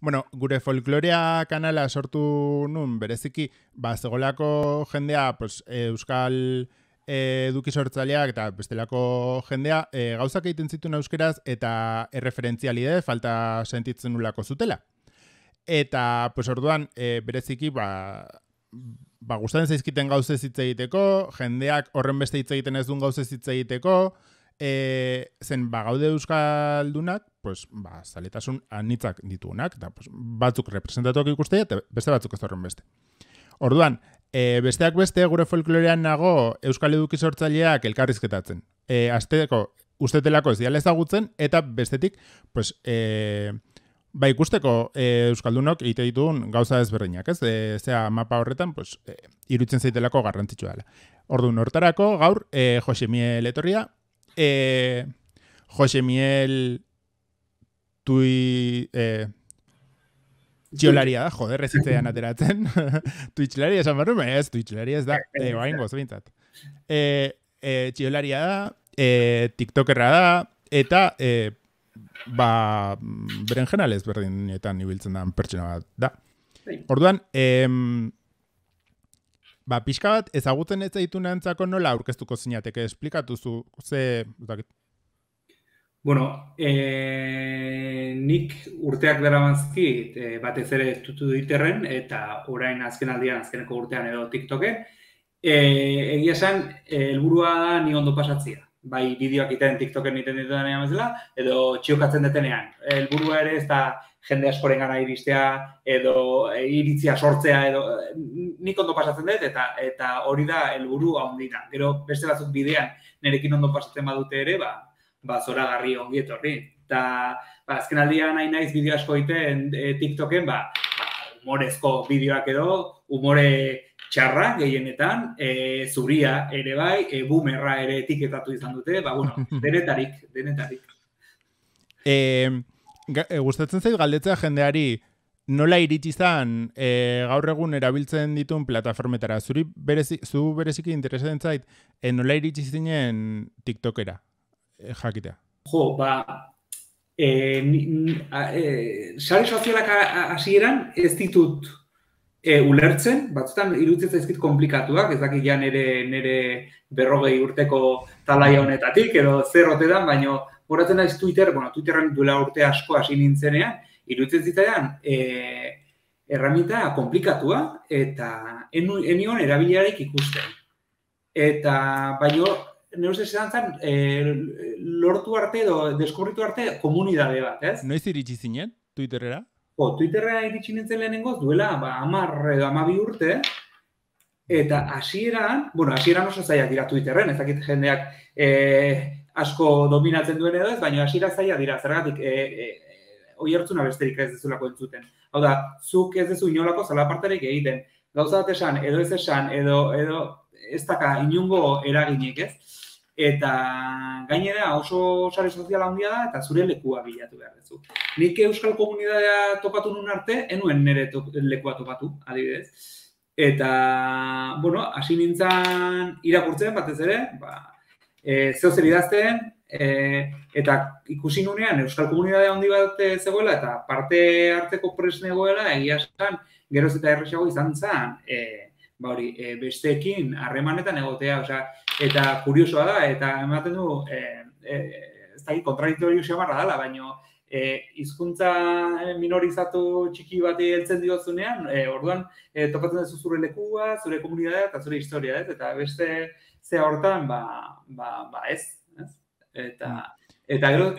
Bueno, gure folklorea kanala sortu nun, bereziki, zegolako jendea, pues, euskal eduki sortzaileak eta bestelako jendea gauzak egiten zituen euskeraz eta erreferentzialide falta sentitzen nulako zutela. Eta, pues, orduan, bereziki, gustatzen zaizkiten gauzez hitz egiteko, jendeak horren beste hitz egiten ez duen gauzez hitz egiteko, zen gaude euskaldunak, pues, zaletasun anitzak ditugunak, eta pues, batzuk representatuak ikustea, eta beste batzuk ez horren beste. Orduan, besteak beste, gure folklorean nago euskal eduki sortzaileak elkarrizketatzen. Azteko, ustetelako ez diala ezagutzen, eta bestetik, pues, ikusteko euskaldunok egite ditugun gauza ezberdinak, ez? Zea mapa horretan, pues, iruditzen zaitelako garrantzitsua dela. Orduan, hortarako, gaur, Jose Miel etorria, Jose Miel txiolaria da, joder, ez hitzean ateratzen. Twitchlaria esan barru, ez, Twitchlaria ez da, bain gozbintzat. Txiolaria da, tiktokerra da, eta berenjenal ezberdinetan ibiltzen da pertsona bat da. Orduan, pixka bat, ezagutzen ez zaitunentzako nola aurkeztuko zinateke, esplikatuzu, ze... Bueno, nik urteak daramanzki batez ere Twitterren eta orain azkeneko urtean edo TikToken, egia esan, helburua da ni ondo pasatzea. Bai bideoak iten TikToken iten ditudanean bezala, edo txiokatzen detenean. Helburua ere ez da jende askoren gana iristea, edo iritzia sortzea, edo nik ondo pasatzen dut, eta hori da helburu handina. Gero beste batzuk bidean nerekin ondo pasatzen badute ere, zoragarri ongi etorri. Eta azken aldian nahi naiz bideo asko egiten TikToken, humorezko bideoak edo, humore txarra gehienetan, zuria ere bai, boomerra ere etiketatu izan dute, denetarik. Gustatzen zait galdetzea jendeari nola iritsi izan gaur egun erabiltzen dituen plataformetara. Zu bereziki interesatzen zait nola iritsi zinen TikTokera jakitea. Jo, sare sozialak hasieran ez ditut ulertzen, batzutan iruditzen zaizkit komplikatuak, ez dakit ja nire 40 urteko talaia honetatik, edo zer ote dan, baina horatzen naiz Twitterren duela urte asko hasi nintzenean, iruditzen zitzaidan erraminta komplikatua, eta enion erabiliarik ikusten. Eta baina nire ustez esan lortu arte edo deskubritu arte komunidade bat, ez? Noiz iritsi zinen Twitterera? Twitterra iritsi nintzen lehenengoz duela 10 edo 12 urte, eta hasieran oso zailak dira Twitterren, ez dakit jendeak asko dominatzen duen edo ez, baina hasiera zaila dira, zergatik oihartzuna besterik ez dezulako entzuten. Hau da, zuk ez dezu inolako zalapartarik egiten, gauza bat esan, edo ez esan, edo ez daka inungo eraginik ez, eta gainera oso sare soziala handia da eta zure lekua bilatu behar duzu. Nik euskal komunitatea topatu nun arte, enuen nire lekua topatu, adibidez. Eta, hasi nintzen irakurtzen batez ere, zeozer idazten, eta ikusi nunean euskal komunitatea handi bat zegoela eta parte hartzeko prest negoela, egia esan, geroz eta erresago izan zen, besteekin harremanetan egotea, eta kuriosoa da, eta ematen du, ez da, kontradiktorio xamarra dela, baina hizkuntza minorizatu txiki bati heltzen diozunean, orduan topatzen duzu zure lekua, zure komunitatea eta zure historia, ez? Eta beste zea hortan, ez? Eta gero...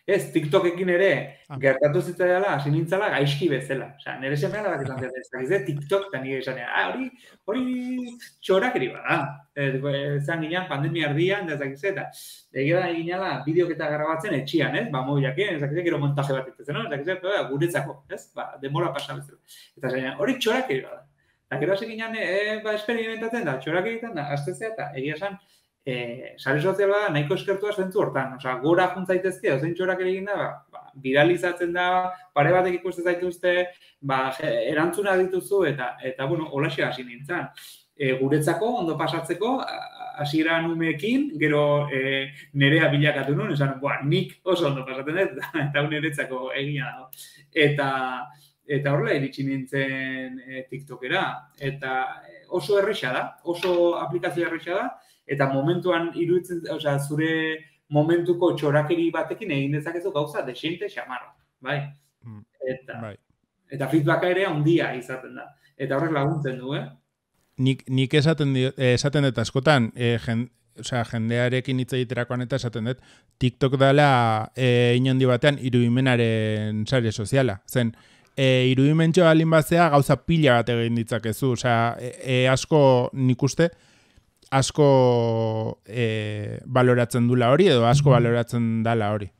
Ez, TikTokekin ere gertatu zitzaidala, hasi nintzala gaizki bezala. Nire semea da bat izan zera, TikTok eta nire esanean, hori txorakeri bada. Zan ginean pandemia erdian, eta egia da ginala bideoketa grabatzen etxian, ez? Mobilaken, gero montaje bat itezen, guretzako, ez? Demora pasa bezala. Eta zain, hori txorakeri bada. Eta gero hasi ginean, experimentatzen da, txorakeri egiten da, aztezea eta egia esan, sare soziala da nahiko eskertua zentzu hortan. Gora juntzaitezke, ozein txorak egin da, viralizatzen da, pare batek ikusten zaituzte, erantzuna dituzu, eta holaxe hasi nintzen. guretzako, ondo pasatzeko, hasiera umeekin, gero nerea bilakatu nuen, esan, nik oso ondo pasatzen dut, eta niretzako egia dago. Eta horrela iritsi nintzen TikTokera, eta oso erresa da, oso aplikazio erresa da, eta momentuan iruditzen, osea, zure momentuko txorakeri batekin egin dezakezu gauza desente xamarra, bai? Eta feedbacka ere handia izaten da. Eta horrek laguntzen du, Nik esaten dut askotan, jendearekin hitz egiterakoan eta esaten dut, TikTok dela inondi batean irudimenaren sare soziala. Zen, irudimentxo alin batzea gauza pila bat egin ditzakezu. Asko nik uste, asko baloratzen dula hori, edo asko baloratzen dala hori.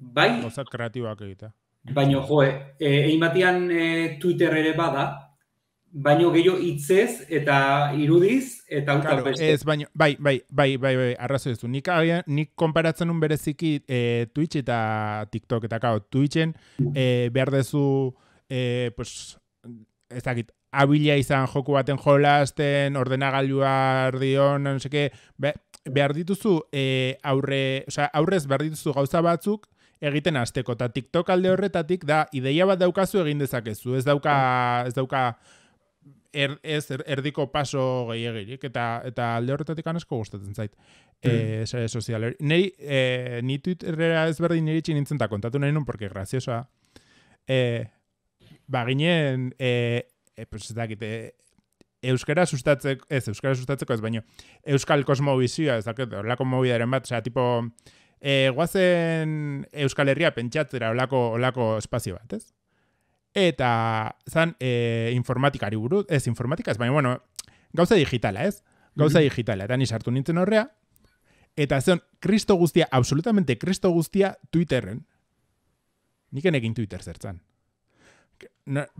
Bai, gauza kreatiboak egita. Baina, egin batean Twitter ere bada, baino gehiago hitzez eta irudiz eta auta beste. Ez, baina, bai, arrazoi ez du. Nik konparatzen un bereziki Twitch eta TikTok, eta Twitchen behar dezu, ez dakit, abila izan joku baten jolasten, ordenagailua ardion, no seke, behar dituzu aurrez behar dituzu gauza batzuk egiten hasteko, eta TikTok alde horretatik da, ideia bat daukazu egin dezakezu, ez dauka erdiko paso gehiagirik, eta alde horretatik anesko gustatzen zait. Sare sozial. Ni Twitterera ezberdin iritsi nintzen eta kontatu nahi nun, porque graziosoa. Ginen, ez dakit, euskara sustatzeko ez, baino, euskal kosmobizioa, ez dakit, horlako mobidaren bat, tipo, guazen Euskal Herria pentsatzera olako espazio bat, ez? Eta zan informatikari buruz, ez informatika ez, baina, bueno, gauza digitala, ez? Gauza digitala, eta ni sartu nintzen horrea, eta zen, kristo guztia, absolutamente kristo guztia Twitterren. Nik enekin Twitter zertzan.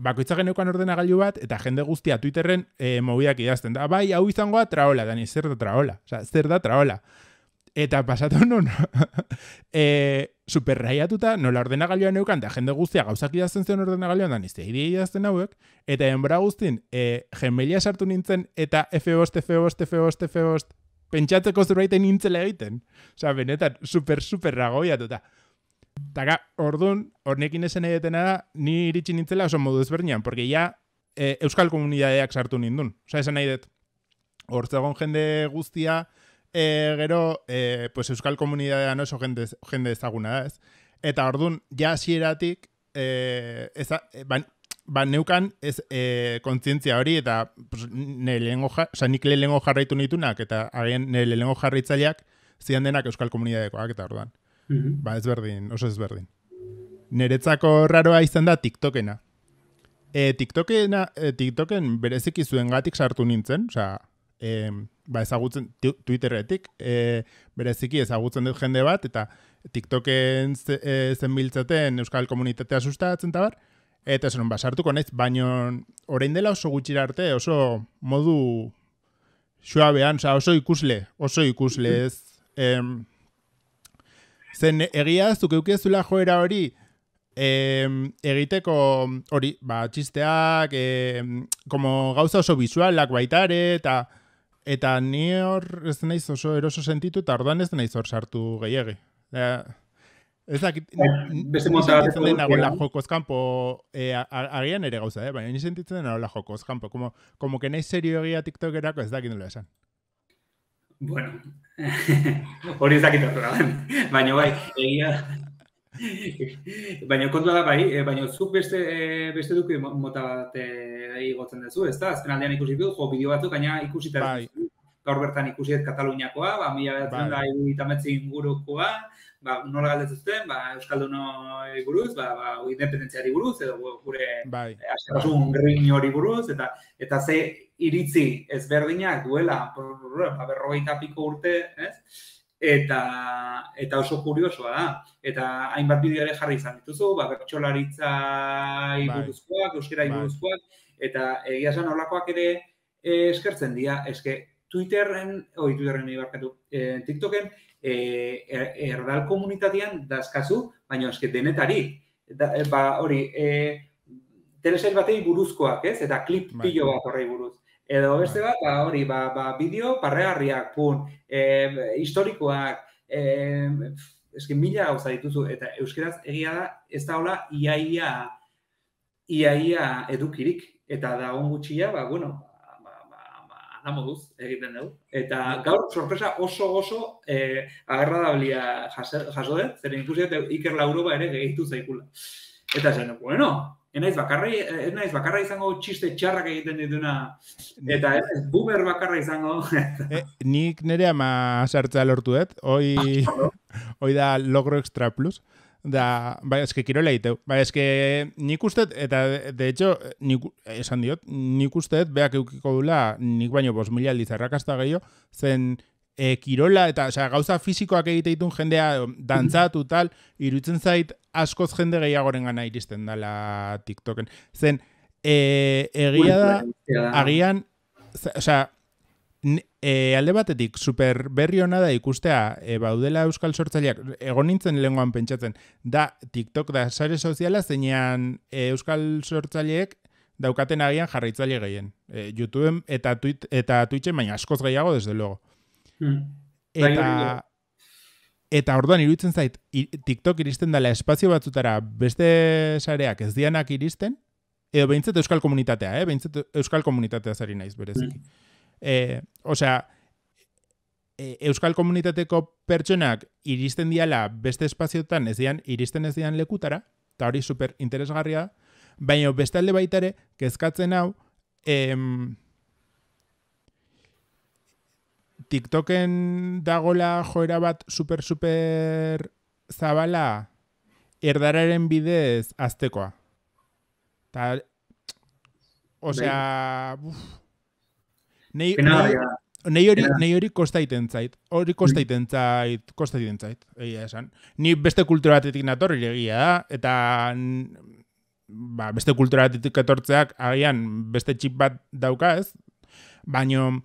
Bakoitza geneukan ordenagailu bat, eta jende guztia Twitterren mobidak idazten da, bai, hau izangoa traola, da ni zer da traola, zer da traola. Eta pasatu non, superraiatuta, nola ordenagailua neukan, eta jende guztia gauzak idazten zen ordenagailuan, da nizte idazten hauek, eta enbora guztien, gemelia sartu nintzen, eta F5, pentsatzeko zurbaiten nintzela egiten. Benetan, super ragoiatuta. Eta orduan, hornekin esan edetena da, ni iritsi nintzela oso modu ezberdinan, porque ja euskal komunidadeak sartu nindun. Esan nahi dut, hortzegon jende guztia, gero, euskal komunidadean oso jende ezaguna da, ez? Eta orduan, ja hasieratik, neukan kontzientzia hori, eta nik lehengo jarraitu nitunak, eta nire lehengo jarraitzaileak zidan denak euskal komunidadekoak, eta orduan. Oso ezberdin. Niretzako raroa izan da TikTokena. TikToken bereziki zuengatik sartu nintzen, ezagutzen Twitterretik, bereziki ezagutzen dut jende bat, eta TikToken zenbiltzaten euskal komunitatea sustatzen eta bar, eta esan, sartuko naiz, baino orain dela oso gutxira arte, oso modu suabean, oso ikusle ez, zen egia zuk eukiezula joera hori, egiteko hori, txisteak, como gauza oso visualak baitare, eta ni hor ez naiz oso eroso sentitu, eta orduan ez naiz hor sartu gehiagi. Ez dakit, ni sentitzen den nagoela jokoz kanpo, agian ere gauza, baina ni sentitzen den nagoela jokoz kanpo, como que naiz serio egia TikTokerako ez dakit nola esan. Bueno, hori ez dakit horrela, baina bai, egia... Baina kontua da bai, baina zuk beste duki mota bat igotzen duzu, ez da? Azken aldean ikusi dut, bideo batzuk, baina ikusita gaur bertan ikusiet Kataluniakoa, 1970 ingurukoa, nola galdetzuzten, Euskaldunoi buruz, independentziari buruz, edo gure askatasun grin hori buruz, eta ze iritzi ezberdinak duela, 40 piko urte, ez? Eta oso kuriosoa da. Eta hainbat bideo ere jarri izan dituzu, bertsolaritzai buruzkoak, euskera buruzkoak, eta egia esan holakoak ere eskertzen dira. Eske TikToken erdal komunitatean dazkazu, baina eske denetarik. Hori, telesail batei buruzkoak, ez? Eta klip pilo bat horrei buruz. Edo beste bat, hori, bideo parregarriak, historikoak, eski mila gauza dituzu, eta euskeraz egia da, ez da hola iaia edukirik, eta da gutxia, da moduz egiten dugu. Eta gaur sorpresa oso agradablia jaso dut, zeren ikusi dut Iker Lauroba ere gehitu zaikula. Eta zen, ez naiz bakarra izango txiste txarrak egiten dituna, eta ez boomer bakarra izango. Nik nire ama sartzea lortu dut, hoi da logro extra plus. Da, eske kirola egiteu. Eske nik usteet, eta de hecho, esan diot, nik usteet beak eukiko dula, nik baino 5.000 aldiz arrakasta gehiago, zen kirola, eta gauza fisikoak egite ditun jendea dantzatu tal, iruditzen zait askoz jende gehiagoren gana iristen dala TikToken. Zen, egia da, agian, alde batetik, super berri hona da ikustea baudela euskal sortzaileak, egon nintzen lehengoan pentsatzen, da TikTok da sare soziala zeinean euskal sortzaileek daukaten agian jarraitzaile gehien. YouTubeen eta Twitchen, baina askoz gehiago, desde luego. Eta orduan iruditzen zait, TikTok iristen dela espazio batzutara beste sareak ez dianak iristen, edo behintzat euskal komunitatea, behintzat euskal komunitatea zari naiz bereziki. Euskal komunitateko pertsonak iristen diala beste espazioetan iristen ez dian lekutara, eta hori super interesgarria, baina beste alde baitare, kezkatzen hau, TikToken dagola joera bat super zabala erdararen bidez aztekoa. Nei hori kostaiten zait. Egia esan. Ni beste kultura batetik natorri egia da, eta beste kultura batetik etortzeak agian beste txip bat dauka ez, baino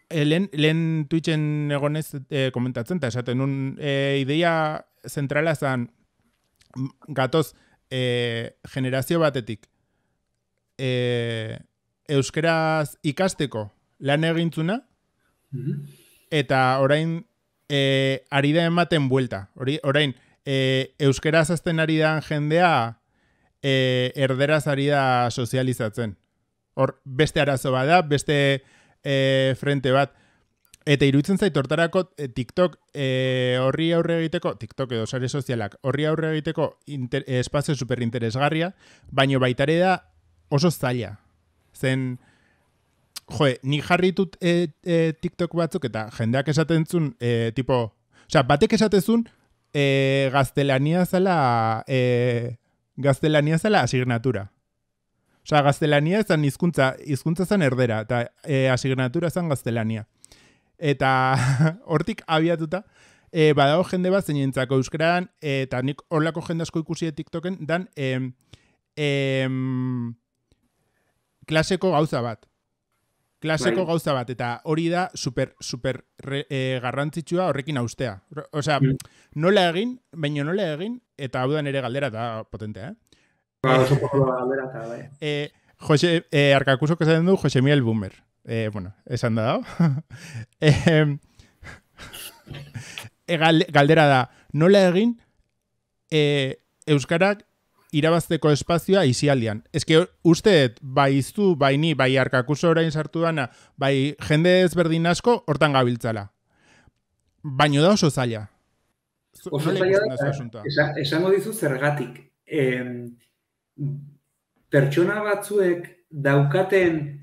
lehen Twitchen egonez komentatzen, eta esaten nun ideia zentrala zan gatoz generazio batetik euskeraz ikasteko lan egintzuna, eta orain ari da ematen buelta. Orain euskeraz azten ari da jendea erderaz ari da sozializatzen. Hor, beste arazo bada, beste frente bat. Eta iruditzen zait hortarako TikTok horri aurre egiteko, TikTok edo sare sozialak, horri aurre egiteko espazio superinteresgarria, baino baitare da oso zaila. Zen, nik jarritut TikTok batzuk eta jendeak esaten zuen, batek esatezun gaztelania zela asignatura. Gaztelania zan hizkuntza zan erdera, eta asignatura zan gaztelania. Eta hortik abiatuta, badago jende bat zeinentzako euskaraan, eta nik horlako jende asko ikusi TikToken, dan klaseko gauza bat. Eta hori da super garrantzitsua horrekin haustea. Nola egin, eta hau da nire galdera eta potentea, oso poco galdera eta, bai. Arkakusok esaten du Jose Miguel Boomer. Esan da dago. Galdera da, nola egin euskarak irabazteko espazioa isialdian. Eske usteet, bai iztu, bai ni, bai Arkakuso orain sartu dana, bai jende ezberdin asko hortan gabiltzala. Baino da oso zaila. Oso zaila da, esango dizu zergatik. Pertsona batzuek daukaten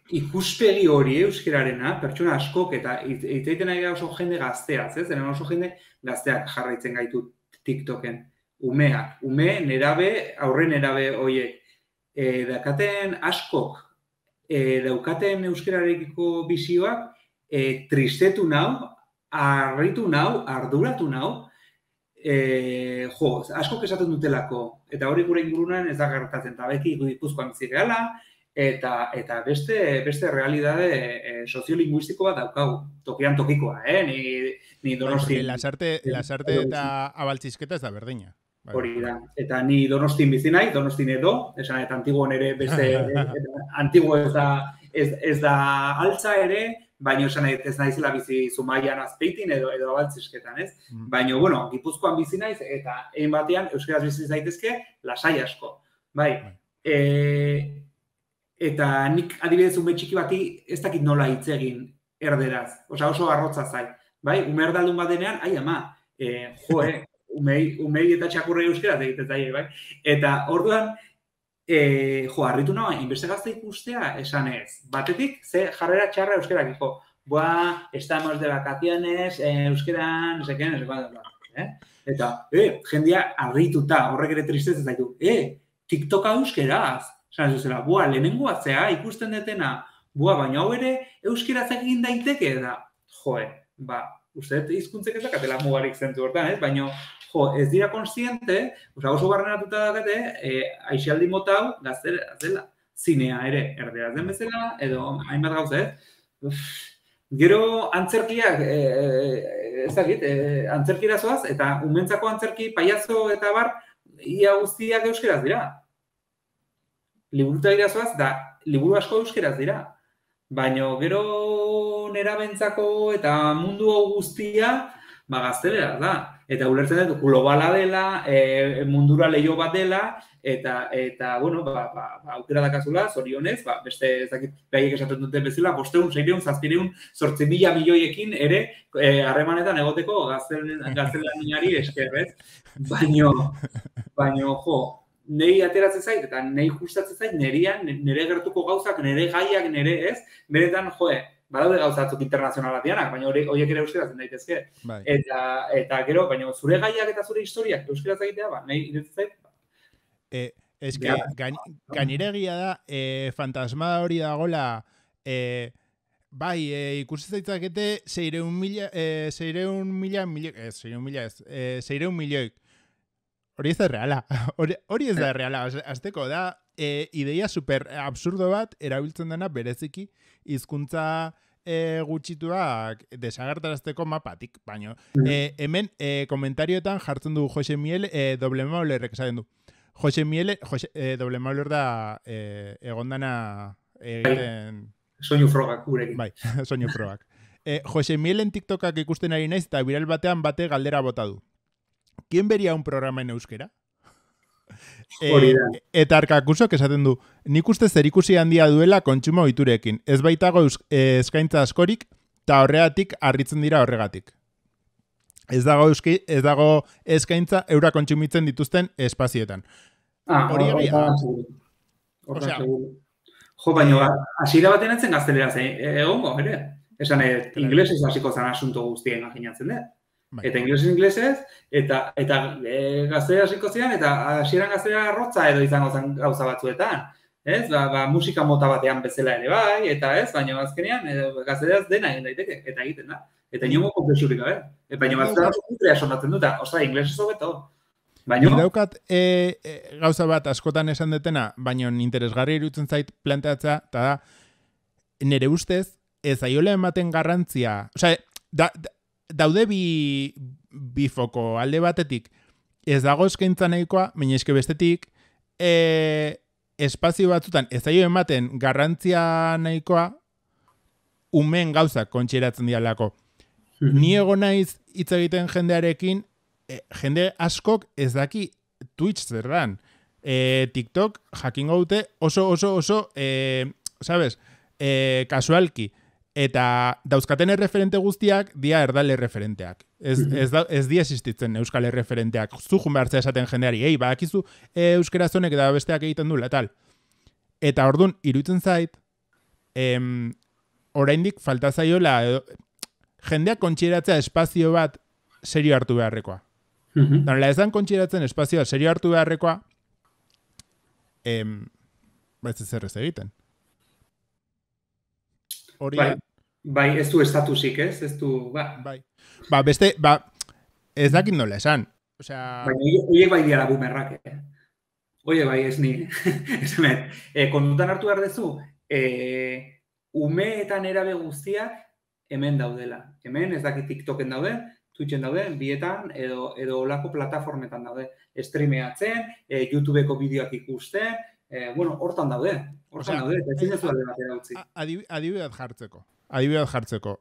ikuspegi hori euskararena, pertsona askok, eta iteiten nahi oso jende gazteaz, oso jende gazteak jarraitzen gaitu TikToken. Umeak, nerabe, aurre nerabe horiek. Daukaten askok, daukaten euskararekiko bizioak, tristetu nau, harritu nau, arduratu nau, askok esaten dutelako, eta hori gure ingurunan ez da gertatzen, eta beti Gipuzkoan bizi gehala, eta beste realidade soziolinguistiko bat daukagu, tokian tokikoa, ni Donosti. Lasarte eta abaltzizketa ez da berdina. Hori da. Eta ni Donostin bizi naiz, Donostin edo, esan eta Antiguon ere beste Antiguo ez da altza ere, baina esan ez naizela bizi Zumaian Azpeitin edo Abaltzisketan, ez? Baina, bueno, Gipuzkoan bizi naiz eta egin batean euskaraz bizi zaitezke lasai asko. Bai. Eta nik adibidez ume txiki bati ez dakit nola hitz egin erderaz. Osea, oso arrotza zait. Bai, ume erdaldun bat denean, ai ama, umei eta txakurrei euskeraz egiten zaie, bai? Eta orduan, harritu nahi, inbeste gazte ikustea esan ez. Batetik, ze jarrera txarra euskerak, estamos de vacaciones, euskeran, no seken, Eta, jendia harrituta, horrek ere tristez ez zaitu, TikToka euskeraz, esan zuzela, lehenengo atzea, ikusten detena, baina hau ere euskeraz egin daiteke da, uste hizkuntzek ez dakatela mugarik zentu hortan, ez? Baina, ez dira konstiente, oso barrenatuta dakate, aixialdi mota hau gaztera zela. Zinea ere, erderaz den bezala, edo hainbat gauza, ez? Gero antzerkiak, ez dakit, antzerkira zoaz, eta umentzako antzerki, paiazo eta bar, ia guztiak euskeraz dira. Liburuta dira zoaz, da liburu asko euskeraz dira. Baina gero nerabentzako eta mundu guztia gaztelera da. Eta ulertzen dut, globala dela, mundura leio bat dela, eta bueno, aukera dakazula, zorionez, beste ezakit behaiek esaten dute bezala, 500, 600, 700, 800 milioiekin ere harremanetan egoteko gaztelaniari eskerrez. Baina, nei ateratzen zait, eta nei gustatzen zait, nire gertuko gauzak, nire gaiak, nire ez, beretan, badaude gauzatzuk internazionalak dianak, baina horiek ere euskeratzen daitezke. Eta gero, baina zure gaiak eta zure historiak euskeratzen egitea, nahi iretzen zait. Ez que, gainiregia da, fantasmada hori dagoela, bai, ikusi zaitzakete 600 milioik. Hori ez da reala. Hori ez da reala. Azteko da, ideia super absurdo bat erabiltzen dena bereziki hizkuntza gutxituak desagertarazteko mapatik. Baina, hemen komentarioetan jartzen du Jose Miel, doble maulerrek esaten du. Jose Miel, doble mauler da egondana egiten... Soinu frogak gurekin. Bai, soinu frogak. Jose Mielen TikTokak ikusten ari naiz eta viral batean bate galdera bota du. ¿Quién vería un programa en euskera? Eta Arkakusok esaten du, nik uste zerikusi handia duela kontsumo ohiturekin. Ez baitago eskaintza askorik, eta horregatik harritzen dira horregatik. Ez dago eskaintza eura kontsumitzen dituzten espazietan. Hori egia. Baina, hasiera baten etzen gazteleraz egongo, ere? Esan, inglesez hasiko zan asunto guztien imaginatzen dut. Eta inglesez, eta gaztelera hasiko ziren, eta hasieran gaztelera arrotza edo izango zen gauza batzuetan. Ez? Musika mota batean bezala ere bai, eta ez, baina azkenean gazteleraz dena egin daiteke, eta egiten da. Eta inongo konplexurik gabe. Baina batzuetan oso kutrea sonatzen dut, inglesez hobeto. Daukat gauza bat askotan esan detena, baina interesgarri iruditzen zait planteatzea, eta da, nire ustez, ez aiola ematen garrantzia, daude bi foko alde batetik, ez dago eskaintza nahikoa, baina eske bestetik, espazio batzutan ez aio ematen garrantzia nahikoa, umeen gauzak kontxeratzen dialako. Ni egon naiz hitz egiten jendearekin, jende askok ez daki Twitch zerran. TikTok jakingo dute oso, sabes, kasualki. Eta dauzkaten erreferente guztiak dia erdal erreferenteak. Ez dia existitzen euskal erreferenteak. Zuhun behartzea esaten jendeari, badakizu euskera zonek eta besteak egiten duela, tal. Eta orduan, iruditzen zait, oraindik falta zaiola, jendeak kontxeratzea espazio bat serio hartu beharrekoa. Danela ezan kontxeratzen espazioa serio hartu beharrekoa, ez zer ez egiten. Bai, ez du estatusik, ez? Ez du, Bai. Beste, ez dakit nola esan. Baina, horiek bai diara bumerrak, Oie, bai, ez ni. Kondutan hartu behar dezu, ume eta nerabe guztiak hemen daudela. Hemen, ez dakit TikToken daude, Twitchen daude, bietan, edo olako plataformetan daude. Streameatzen, YouTubeko bideoak ikusten, hortan daude. Hortan daude, eta ezin ez alde batera utzi. Adibidez jartzeko.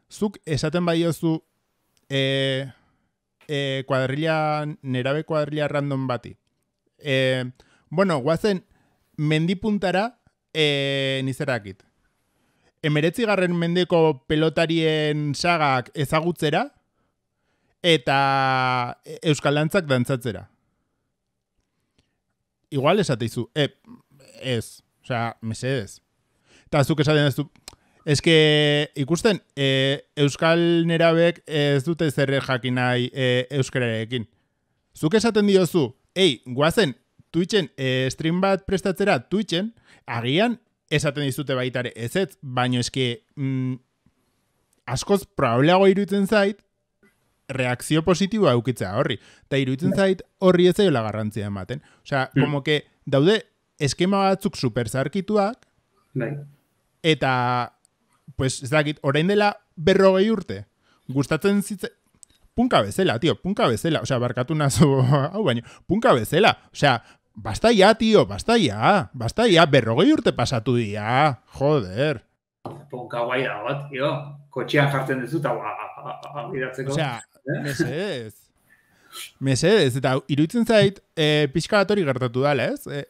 Zuk esaten badiozu nerabe kuadrilla random bati. Guazen mendipuntara nizerakit. 19. mendeko pelotarien sagak ezagutzera eta euskal dantzak dantzatzera. Igual esateizu, ez, mesedez. Eta zuk esaten ez du, ikusten, euskal nerabek ez dute zer jakin nahi euskararekin. Zuk esaten diozu, guazen, Twitchen, stream bat prestatzera Twitchen, agian esaten dizute baitare ez, baino askoz probableago iruditzen zait, reakzio positiboa eukitzea horri. Eta iruditzen zait horri ez zaiola garrantzia ematen. Como que daude eskema batzuk super zarkituak, eta, pues, ez dakit, orain dela 40 urte, gustatzen zitze, punka bezala, punka bezala. Barkatu nazo, baino, punka bezala. Basta ya, basta ya. 40 urte pasatu dira, joder. Punka guai dago, tío. Kotxean jartzen dezut, bidatzeko. Mesedez, eta iruditzen zait, pixka bat hori gertatu dala, ez?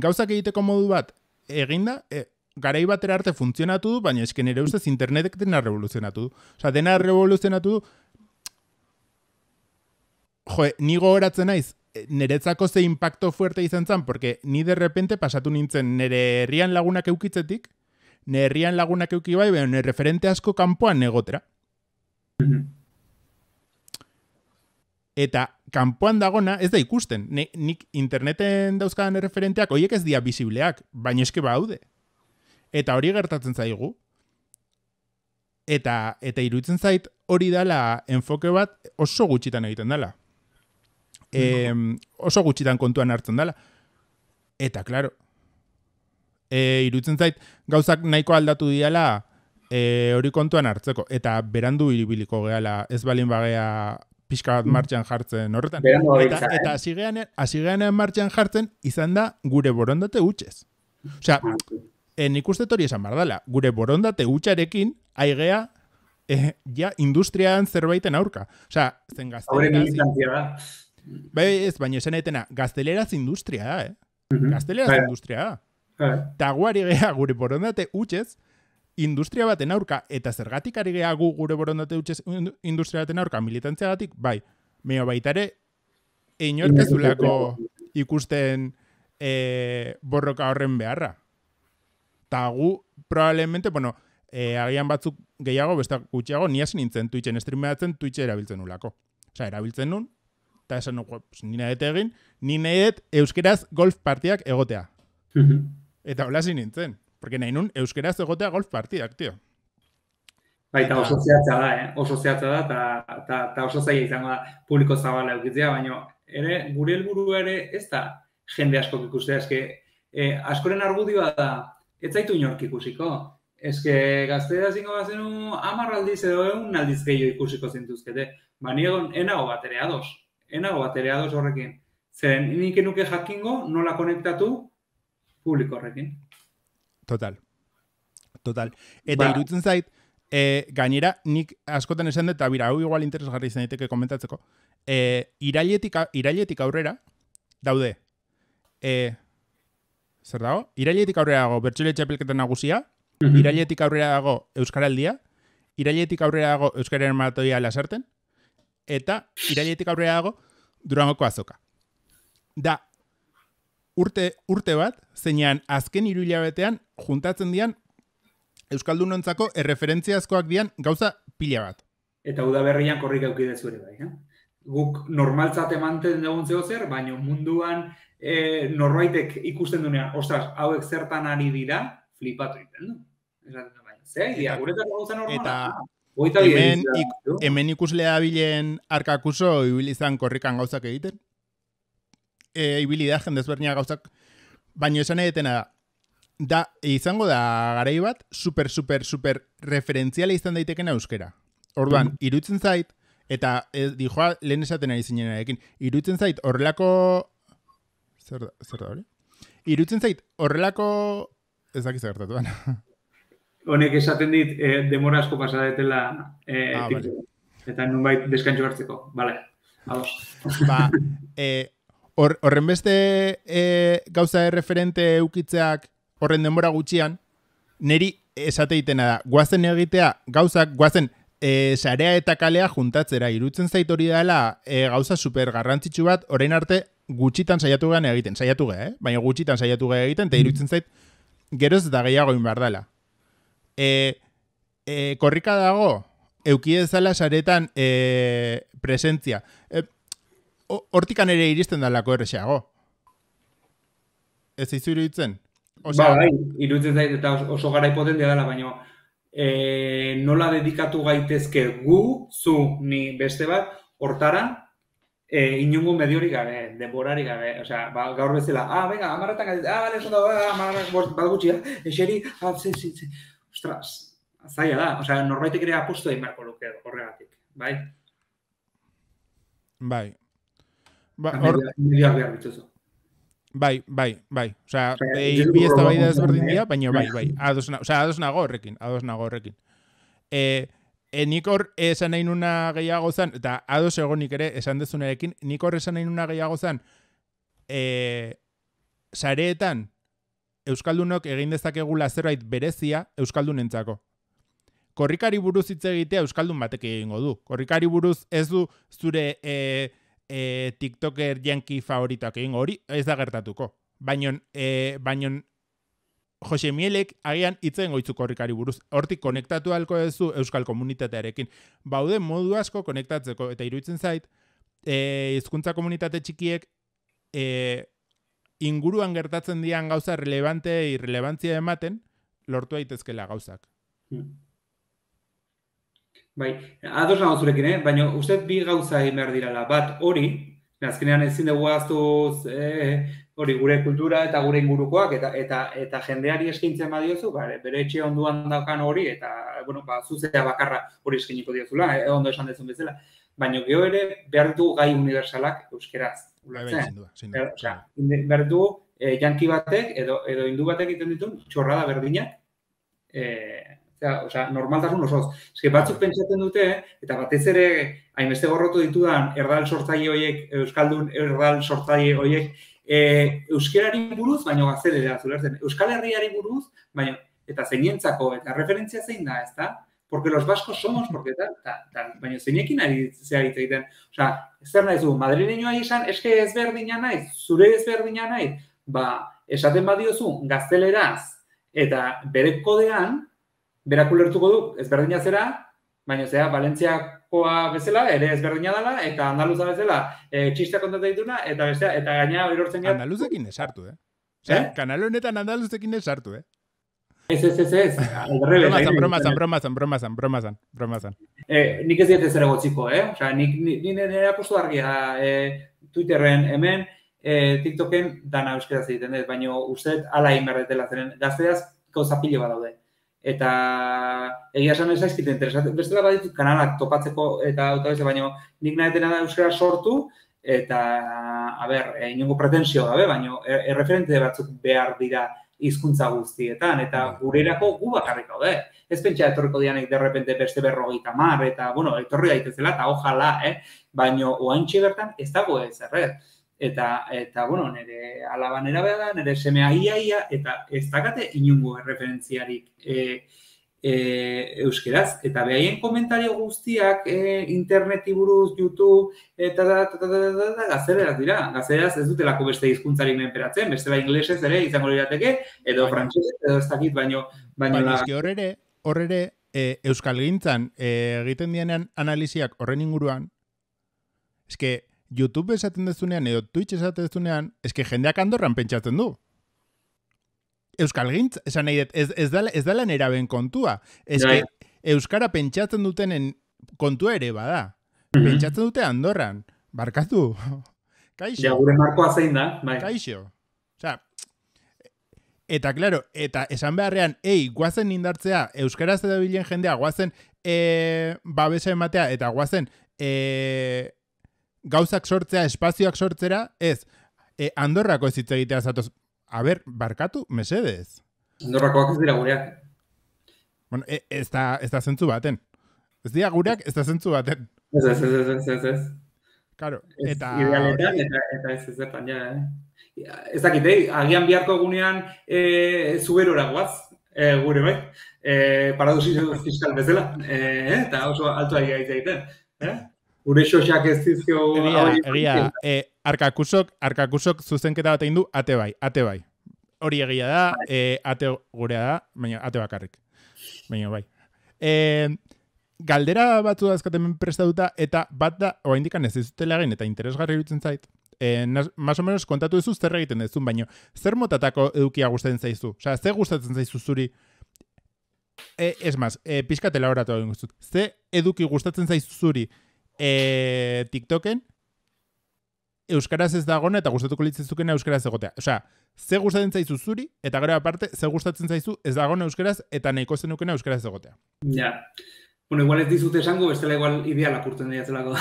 Gauzak egiteko modu bat eginda, garai batera arte funtzionatu du, baina esken nire ustez internetek dena revoluzionatu du. Dena revoluzionatu du, ni gogoratzen naiz, niretzako ze impacto fuerte izan zen, porque ni de repente pasatu nintzen nire herrian lagunak eukitzetik, nire herrian lagunak euki bai, baina nire referente asko kanpoan negotera. Eta kanpoan dagona ez da ikusten. Nik interneten dauzkadan referenteak horiek ez dira bisibleak, baina eske baude. Eta hori gertatzen zaigu. Eta iruditzen zait hori dala enfoke bat oso gutxitan egiten dala. Oso gutxitan kontuan hartzen dala. Eta, klaro, iruditzen zait gauzak nahiko aldatu diala hori kontuan hartzeko. Eta berandu ibiliko gehala, ez balin bagea pixka bat martxan jartzen horretan. Eta hasigean martxan jartzen izan da gure borondate hutsez. Nik uste hori esan behar dela. Gure borondate hutsarekin aigea industrian zerbaiten aurka. Zen gazteleraz... baina esan etena, gazteleraz industria da, Gazteleraz industria da. Eta guari gea gure borondate hutsez industria baten aurka, eta zergatik ari gea gu gure borondate hutsez industria baten aurka militantziagatik, meo baitare inorkezulako ikusten borroka horren beharra. Eta gu, probablemente, agian batzuk gehiago, beste gutxiago, ni hasi nintzen Twitchen streamatzen, Twitch erabiltzen nulako. Erabiltzen nun, eta esan nina egin, nina euskeraz golf partiak egotea. Eta hola hasi nintzen. Porque nahi nun euskeraz egotea golf partidak, tio. Eta oso zehatza da, oso zehatza da, eta oso zaila izango da publiko zabala eukitzea, baina gure helburu ere ez da jende askok ikustea, askoren argudioa da, ez zaitu inork ikusiko. Gaztea zingo bazenu 10 aldiz edo 1 aldiz gehiago ikusiko zintuzkete. Enago bat ere ados horrekin. Zeren, nik enuke jakingo nola konektatu publiko horrekin. Total. Eta iruditzen zait, gainera, nik askotan esan dut, eta bira, hau igual interesgarri izan daiteke komentatzeko, irailetik aurrera, daude, zer dago? Irailetik aurrera dago Bertsolari Txapelketa Nagusia, irailetik aurrera dago Euskaraldia, irailetik aurrera dago Euskararen Maratoia Lasarten, eta irailetik aurrera dago Durangoko Azoka. Da, urte bat, zeinan azken 3 hilabetean juntatzen dian Euskaldunontzako erreferentziazkoak dian gauza pila bat. Eta udaberrian korrika eukidezu ere bai, Guk normaltzat emanten dugun zer, baina munduan norbaitek ikusten duenean, ostras, hauek zertan ari dira, flipatu egiten du. Zea idea, guretako gauza normala. Hemen ikuslea bilen arkakuso ibilizan korrikan gauzak egiten. Ibili da, jendezbernia gauzak, baina esan edetena da, izango da garai bat, super referentziala izan daitekena euskera. Orduan, irutzen zait, eta dijoa lehen esaten ari zinenarekin, irutzen zait horrelako... Zer da hori? Irutzen zait horrelako... Ez dakiz gertatuan. Honek esaten dit, demora asko pasadetela vale. eta nunbait deskantxo hartzeko. Vale, ados. Ba, horren beste gauza referente eukitzeak horren denbora gutxian, neri esate itena da, guazen egitea gauzak, guazen sarea eta kalea juntatzera, irutzen zait hori dela gauza super garrantzitsu bat, orain arte gutxitan saiatu gehan egiten, baina gutxitan saiatu gehan egiten, eta irutzen zait geroz eta gehiago inbar dela. Korrika dago, eukidezala saretan presentzia. Hortikan ere iristen dalako errexeago. Ez izu iruditzen? Bai, iruditzen zait eta oso garai potentea dela, baina nola dedikatu gaitezke gu, zu, ni beste bat, hortara, inungo mediorik gabe, denborarik gabe, osea, gaur bezala, venga, amarretan gaitez, bale, esan da, amarretan bat gutxia, eseri, ostras, zaila da, osea, norbaitek ere apostu egin beharko luke horregatik, bai? Bai. Medioak behar dituzu. Bai. Osea, bi ez da bai da ezberdin dira, baina bai. Ados nago horrekin. Nik hor esan nahi nuna gehiago zan, eta ados egonik ere esan dezunarekin, nik hor esan nahi nuna gehiago zan, sareetan euskaldunok egin dezakegula zerbait berezia euskaldunentzako. Korrikari buruz hitz egitea euskaldun batek egingo du. Korrikari buruz ez du zure TikToker yankee favoritoak egingo, hori ez da gertatuko. Baina Jose Mielek agian hitzen goitzu korrikari buruz. Hortik konektatu halko duzu euskal komunitatearekin. Baude modu asko konektatzeko, eta iruditzen zait, hizkuntza komunitate txikiek inguruan gertatzen dian gauza irrelevantzia ematen, lortu daitezkela gauzak. Bai, ados nago zurekin, baina uste bi gauza egin behar dirala. Bat, hori, azkenean ezin dugu aztuz hori gure kultura eta gure ingurukoak eta jendeari eskaintzen badiozu, bere etxe onduan daukan hori eta zuzea bakarra hori eskainiko diozula, ondo esan dezun bezala. Baina geho ere behar ditugu gai universalak euskeraz. Behar ditugu janki batek edo hindu batek egiten ditu txorrada berdinak, normaltasun osoz. Eske batzuk pentsatzen dute, eta batez ere hainbeste gorrotu ditudan erdal sortzaile horiek, euskaldun erdal sortzaile horiek, euskerari buruz, baina gaztelera zulertzen. Euskal Herriari buruz, baina eta zeinientzako, eta referentzia zein da, ezta? Porque los vascos somos, porque tal, baina zeinekin ari zehar hitz egiten. Osea, zer nahi zu, madrileñoa izan, eske ezberdina naiz, zure ezberdina naiz, esaten badiozu gazteleraz, eta bere kodean, berak ulertuko du ezberdina zera, baina zera, Valentziakoa bezala, ere ezberdina dela, eta andaluza bezala, txistea kontatu dituna, eta bestea, eta gaina erortzen gara. Andaluzekin esartu, Osea, kanal honetan andaluzekin esartu, Ez. Bromazan. Nik ez diet zer egotziko, Osea, nik nire apostu argia Twitterren hemen, TikToken dana euskeraz egiten dut, baina uste ala egin berdetela zeren, gazteaz gauza pilo bat daude. Eta egia esan ez zaizkite interesatzen. Bestela baditut kanalak topatzeko eta autobese, baina nik nahetena da euskara sortu eta, inongo pretensio gabe, baina erreferente batzuk behar dira hizkuntza guztietan, eta gurerako gu bakarrik gaude. Ez pentsa etorriko dianek derrepente beste 50, eta, etorri daitezela, eta ojala, baina oaintxe bertan ez dago ez erret. Eta nire alabanera behar da, nire semea ia, eta ez dakate inungo referentziarik euskeraz. Eta behaien komentario guztiak interneti buruz, YouTube, eta gazteleraz dira. Gazteleraz ez dutelako beste hizkuntzarik menperatzen, bestela inglesez ere izango lirateke, edo frantsesez, edo ez dakit, baino... Baina eski horre euskalgintzan egiten dienean analiziak horren inguruan, eske... YouTube esaten dezunean, edo Twitch esaten dezunean, eske jendeak Andorran pentsatzen du. Euskalgintz, esan nahi dut, ez dela neraben kontua. Eske euskara pentsatzen dutenen kontua ere bada. Pentsatzen dute Andorran. Barkatu. Kaixo. Ja, gure markoa zein da. Bai. Kaixo. Osea, eta, claro, eta esan beharrean, guazen indartzea, euskaraz edo bilen jendea, guazen babesa ematea eta guazen gauzak sortzea, espazioak sortzera, ez, Andorrako ez hitz egitea zatoz. Barkatu, mesedez. Andorrakoak ez dira gureak. Bueno, ez da zentzu baten. Ez dira gureak, ez da zentzu baten. Ez. Claro, eta... Idealetan, eta ez zertan, ja, Ez dakit, agian biharko egunean zuberora guaz, gure bai, paradosio fiskal bezala, eta oso alto ari gaitza egiten, Gure xoxak ez dizkio... Egia, Arkakusok zuzenketa bat egin du, ate bai. Hori egia da, ate gurea da, baina ate bakarrik. Baina bai. Galdera batzu dazkaten prestatuta, eta bat da, oraindikan ez dizutela egin, eta interesgarri iruditzen zait. Más o menos kontatu duzu zer egiten duzun, baina zer motatako edukia gustatzen zaizu? Osea, zer gustatzen zaizu zuri? Ez maz, pixkat elaboratu egin guztut. Ze eduki gustatzen zaizu zuri TikToken euskaraz ez dagona eta gustatuko litzezukena euskaraz egotea. Osea, ze gustatzen zaizu zuri eta gero aparte ze gustatzen zaizu ez dagona euskaraz eta nahiko zenukena euskaraz egotea. Ja. Bueno, igual ez dizute esango, bestela igual ideal apurtzen dira zelako.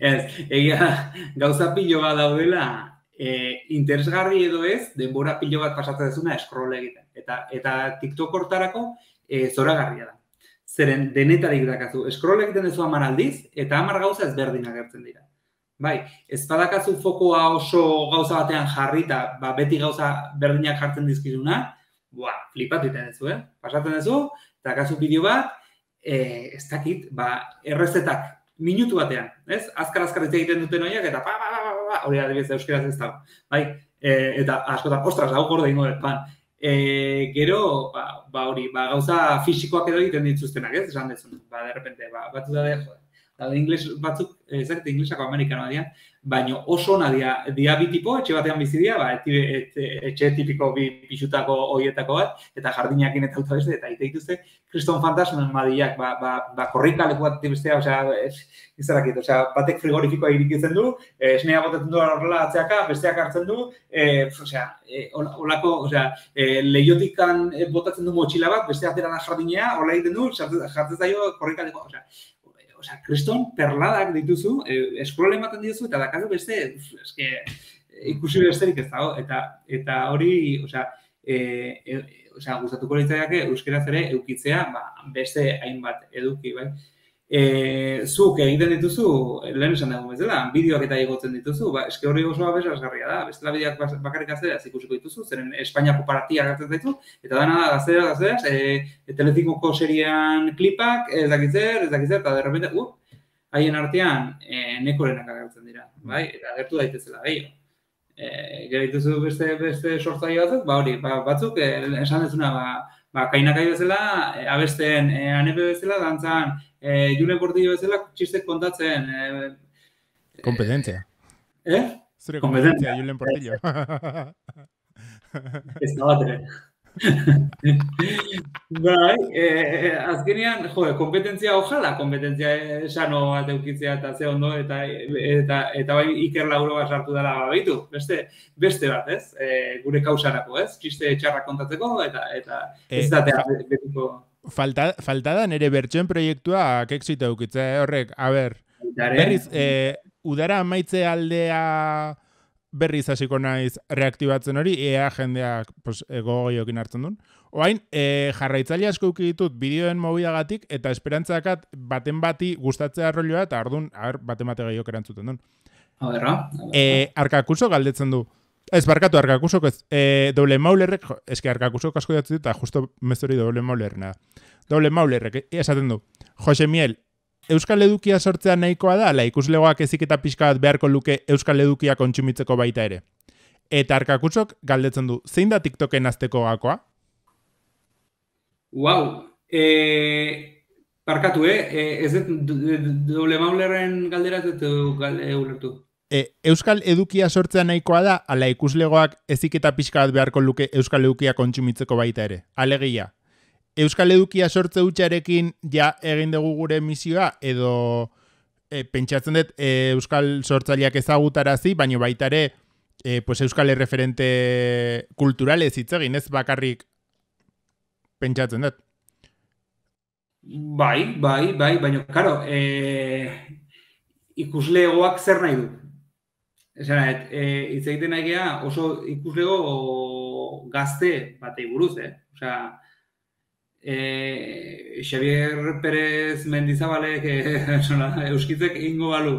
Ez, egia gauza pilo bat daudela interesgarri edo ez, denbora pilo bat pasatzen dezuna scroll egiten. Eta TikTok hortarako zoragarria da. Zeren denetarik dakazu. Scroll egiten dezu 10 aldiz, eta 10 gauza ezberdinak gertzen dira. Bai, ez badakazu fokoa oso gauza batean jarrita, beti gauza berdinak jartzen dizkizuna, flipatu egiten dezu, Pasatzen dezu, eta kasu bideo bat, ez dakit, errezetak minutu batean, ez? Azkar egiten duten horiek, eta hori adibidez euskaraz ez dago. Bai, eta askotan, ostras, hau gorde ingo pan. Gero, hori, gauza fisikoak edo egiten dituztenak, ez? Esan dezun, de repente, batzu da ingles batzuk, ezakit inglesako amerikanoa dira, baina oso ona dia bi tipo, etxe batean bizi dira, etxe tipiko bi pixutako horietako bat, eta jardinakin eta auto beste, eta ite dituzte, kriston fantasmen madiak, korrikaleku bat bestea, izarakit, batek frigorifikoa irikitzen du, esnea botatzen du horrela atzeaka, besteak hartzen du, olako, lehiotikan botatzen du motxila bat, bestea atera da jardinea, hola egiten du, jartzen zaio korrikalekoa, kriston perladak dituzu, eskurola ematen dituzu, eta dakazu beste, ikusi besterik ez dago, eta hori, gustatuko litzaiake euskeraz ere eukitzea, beste hainbat eduki, bai. Zuk egiten dituzu, lehen esan dugu bezala, bideoak eta igotzen dituzu, eske hori oso aberazgarria da, bestela bideoak bakarrik gazteraz ikusiko dituzu, zeren Espainiako paratia gertzen zaitu, eta dana gazteraz, Telecinco seriean klipak, ez dakitzer, eta derrepente, haien artean nekorenak agertzen dira, bai, eta agertu daitezela gehiago. Gero dituzu beste sortzaile batzuk, hori, batzuk, esan dezuna, kainakai bezala, abesten, anepe bezala, dantzan, Julen Portillo bezala, txistek kontatzen. Kompetentzia. Zure kompetentzia, Julen Portillo. Ez da bat ere. Bai, azkenean, kompetentzia ojala, kompetentzia esano bat eukitzea eta ze ondo, eta bai Iker Lauro bat sartu dela babitu, beste bat, ez? Gure kausarako, ez? Txiste txarrak kontatzeko, eta ez datea betiko... Falta da nire bertsoen proiektua exito eukitzea, horrek, berriz, udara amaitze aldea berriz hasiko naiz reaktibatzen hori, ea jendeak gogoiokin hartzen duen. Oain, jarraitzaile asko euki ditut bideoen mobiagatik, eta esperantzakat baten bati gustatzea rolloa, eta ardun, baten bate gehiok erantzuten duen. Arkakuso galdetzen du. Ez, barkatu, Arkakusok ez. Doble Maulerrek, eski Arkakusok asko jatzen dut, eta justo mezori Doble Maulerrena. Doble Maulerrek, esaten du. Jose Miel, Euskal Edukia sortzea nahikoa da, ikuslegoak eziketa pixka bat beharko luke Euskal Edukia kontsumitzeko baita ere. Eta Arkakusok galdetzen du, zein da TikToken azteko gakoa? Barkatu, ez Doble Maulerren galdera ez dut ulertu. Euskal Edukia sortzea nahikoa da, ala ikuslegoak eziketa pixka bat beharko luke Euskal Edukia kontsumitzeko baita ere. Alegia, Euskal Edukia sortze hutsarekin ja egin dugu gure misioa, edo pentsatzen dut Euskal sortzaileak ezagutarazi, baina baita ere Euskal erreferente kulturalez hitz egin, ez bakarrik pentsatzen dut. Bai, baina, karo, ikuslegoak zer nahi du? Esan, hitz egiten nahi gea oso ikuslego gazte batei buruz, Osea, Xavier Pérez Mendizabalek euskitzek egingo balu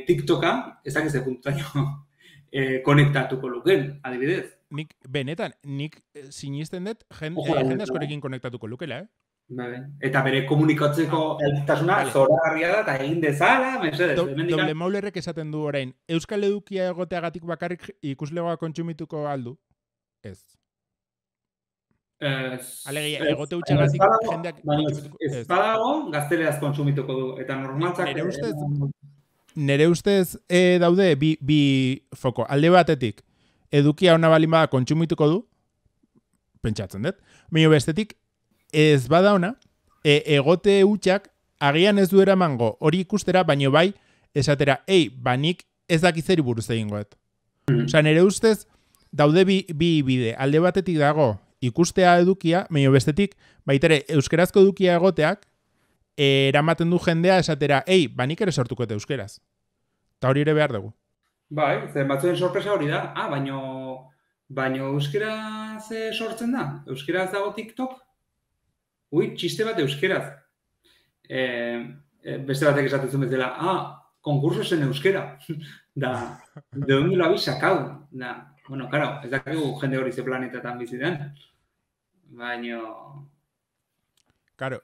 TikToka, ez dakiz puntutaino konektatuko luken, adibidez. Nik sinisten dut Ojo, jende askorekin konektatuko lukela, Eta bere komunikatzeko eltasuna zoragarria da, eta egin dezala, mesedez. Doble Maulerrek esaten du orain, Euskal Edukia egoteagatik bakarrik ikuslegoa kontsumituko aldu? Ez. Alegia, egote utxagatik jendeak kontsumituko. Ez badago, gazteleaz kontsumituko du. Eta normaltzak... Nere ustez daude bi foko. Alde batetik, edukia ona balin bada kontsumituko du, pentsatzen dut. Baina bestetik, ez bada ona, egote utxak agian ez du eramango hori ikustera, baino bai, esatera, nik ez dakizeri buruz egingoet. Osa, nere ustez, daude bi bide. Alde batetik dago ikustea edukia, baina bestetik, baitere, euskerazko edukia egoteak, eramaten du jendea esatera, nik ere sortuko eta euskeraz. Eta hori ere behar dugu. Bai, zen batzuen sorpresa hori da. Baina euskeraz sortzen da? Euskeraz dago TikTok? Txiste bat euskeraz. Beste batek esatzen bezala, konkursos en euskera. Da, de donde lo habéis sacado? Da, bueno, claro, ez dakigu jende hori ze planetetan bizi den. Baina... Claro.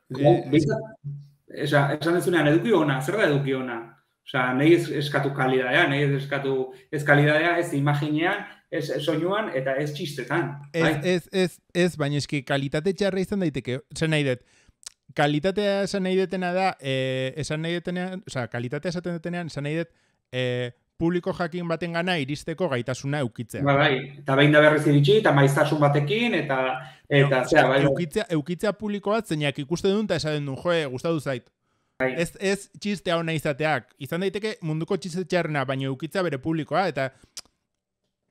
Esan dezunean, eduki ona, zer da eduki ona? Osea, nahi eskatu kalidadea, nahi ez kalidadea, ez imaginean, ez soinuan, eta ez txistetan. Ez, baina eski kalitate txarra izan daiteke, esan nahi dut. Kalitatea esan nahi detena da, kalitatea esaten detenean, esan nahi dut, publiko jakin baten gana iristeko gaitasuna eukitzea. Bai, eta behin da berriz iritsi, eta maiztasun batekin, eukitzea publiko bat, zeinak ikusten duen, eta esaten duen, gustatu zait. Ez txistea hona izateak. Izan daiteke munduko txiste txarrena, baina eukitza bere publikoa, eta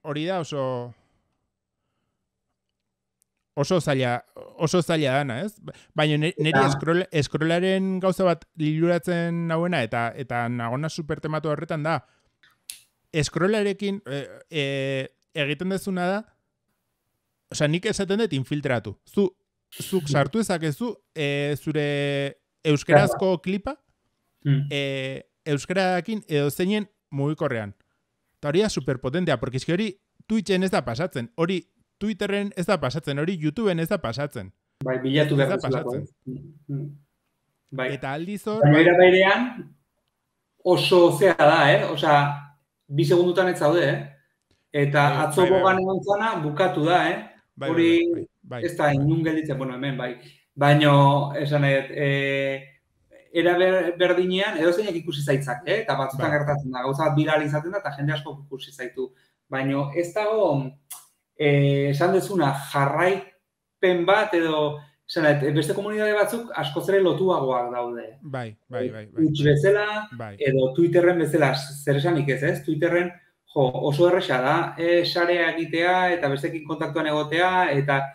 hori da oso zaila dana, ez? Baina niri eskrolaren gauza bat liluratzen nauena, eta nagona supertematu horretan da, eskrolarekin egiten dezuna da, osea, nik esaten dut infiltratu. Zuk sartu ezakezu zure euskerazko klipa, euskerakin edo zeinen mugikorrean. Eta hori da superpotentea, porque eski hori Twitchen ez da pasatzen, hori Twitterren ez da pasatzen, hori YouTubeen ez da pasatzen. Bai, bilatu behar duzulako. Eta aldiz hor... Baina bairean oso zea da, Osea, 2 segundutan ez zaude, Eta atzo bogan egon zana bukatu da, Hori ez da inun gelditzen, bueno, hemen, bai. Baina, esan era berdinean, edo zeinak ikusi zaitzak, eta batzutan gertatzen da, gauza bat viral izaten da, eta jende asko ikusi zaitu. Baina ez dago, esan dezuna, jarraipen bat, edo, beste komunidade batzuk askoz ere lotuagoak daude. Bai. Twitch bezala, edo Twitterren bezala, zer esanik ez, Twitterren, oso erresa da, sarea egitea, eta bestekin kontaktuan egotea, eta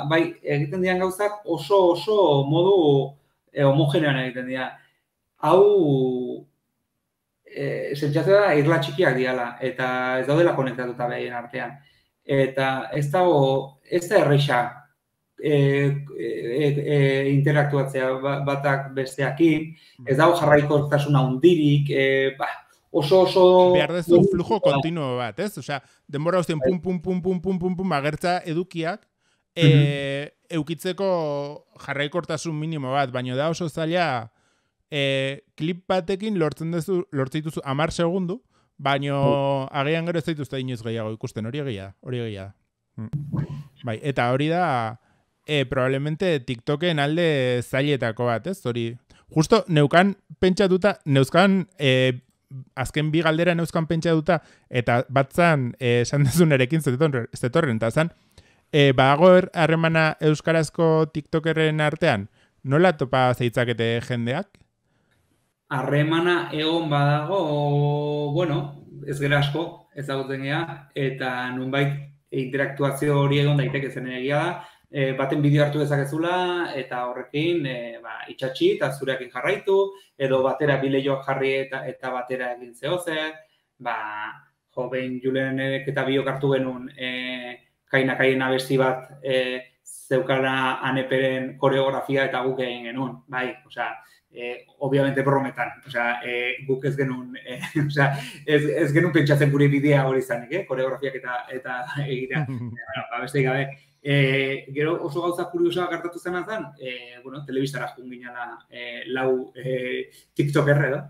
bai, egiten dian gauzak oso modu homogenean egiten dira. Hau, sentzatu da, irla txikiak diala, eta ez daudela konektatuta behien artean. Eta ez da erresa interaktuatzea batak besteakin, ez dago jarraikortasuna hundirik, oso... Behar dezu flujo kontinuo bat, ez? Osea, denbora guztien pum, agertza edukiak, eukitzeko jarraikortasun minimo bat, baina da oso zaila klip batekin lortzen dituzu 10 segundu, baina agian gero ez dituzte inoiz gehiago ikusten, hori egia da. Bai, eta hori da probablemente TikToken alde zailetako bat, ez? Hori, justo neuzkan azken 2 galdera neuzkan pentsatuta, eta batzan esan dezun erekin zetorren, eta zan, badago harremana euskarazko TikTokerren artean, nola topa zeitzakete jendeak? Harremana egon badago, bueno, ez gera asko, ezagutzen gea, eta nunbait interaktuazio hori egon daiteke zen egia da, baten bideo hartu dezakezula, eta horrekin itxatxi eta zureakin jarraitu, edo batera bileioak jarri eta batera egin zehoze, behin Julenek eta biok hartu genuen kainakaien abesti bat zeukala Aneperen koreografia eta guk egin genuen, bai, osea, obviamente brometan, osea, guk ez genuen, osea, ez genuen pentsatzen gure bidea hori izanik, koreografiak eta egitea, beste gabe. Gero oso gauza kuriosoa gertatu zena zen, telebistara joan ginela lau tiktoker edo,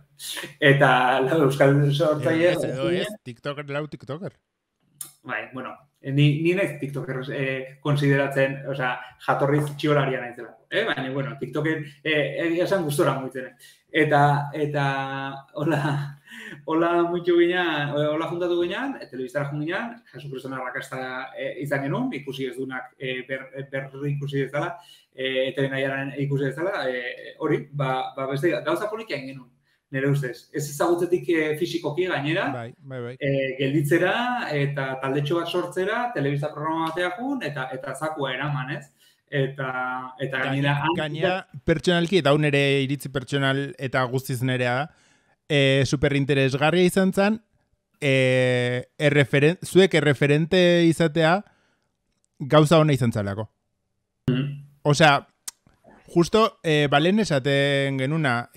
eta lau euskal sortzaile. tiktoker, lau tiktoker. Bai, ni naiz tiktoker konsideratzen, osea, jatorriz txiolaria naizela. Baina, tiktoken esan gustora muitzen. Eta hola muitu ginean, hola juntatu ginean, telebistara joan ginean, Jesu Kristona arrakasta izan genuen, ikusi ez dunak berri ikusi dezala, eta nahiaren ikusi dezala, hori, beste gauza polikia egin genuen. Nire ustez, ez ezagutzetik fisikoki gainera, gelditzera eta taldetxo bat sortzera, telebista programa bateakun eta zakua eraman, ez? Eta gainera pertsonalki, eta nire iritzi pertsonal eta guztiz nerea, superinteresgarria izan zen, zuek erreferente izatea gauza hona izan zalako. Osea, justo, balen esaten genuna,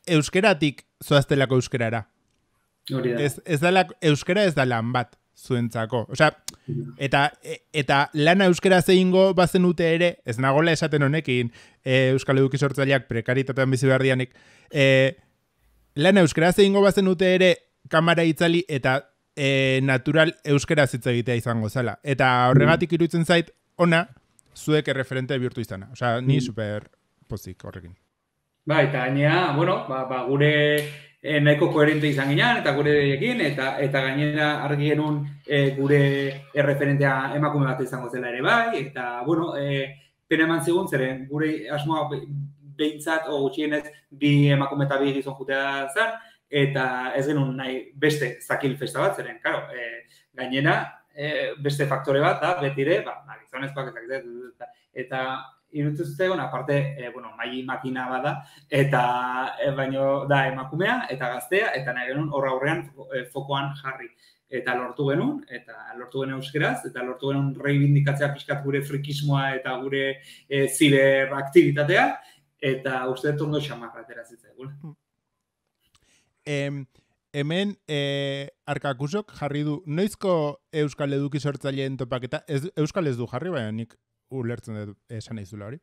euskeratik zoaztelako euskerara. Euskera ez da lan bat zuentzako. Osea, eta lana euskera zeingo bazenute ere, ez nagola esaten honekin, Euskal Eduki Sortzaileak prekaritatean bizi behar dianik, lana euskera zeingo bazenute ere kamara itzali eta natural euskera zitza egitea izango zela. Eta horregatik iruditzen zait, ona, zuek erreferente bihurtu izana. Osea, ni super pozik horrekin. Eta gainera, gure nahiko koherente izan ginean, eta gure deiekin, eta gainera argi genuen gure erreferentea emakume bat izango zela ere bai, eta, pena eman zigun, zeren gure asmoa behintzat, o gutxienez, bi emakume eta bi gizon jutea zen, eta ez genuen nahi beste zakil festa bat, zeren, karo, gainera, beste faktore bat da, betire, gizonezkoak eta iruditzen zuten, aparte, maili makina bada, eta baino da emakumea, eta gaztea, eta nahi genuen horra aurrean fokoan jarri. Eta lortu genuen euskeraz, eta lortu genuen reibindikatzea pixkat gure frikismoa eta gure ziberaktibitatea, eta uste dut ondo xamarra aterazitzen. Hemen, Arkakusok jarri du, noizko Euskal Eduki Sortzaileen topaketa, Euskal ez du jarri, baina nik ulertzen dut esan naizula hori.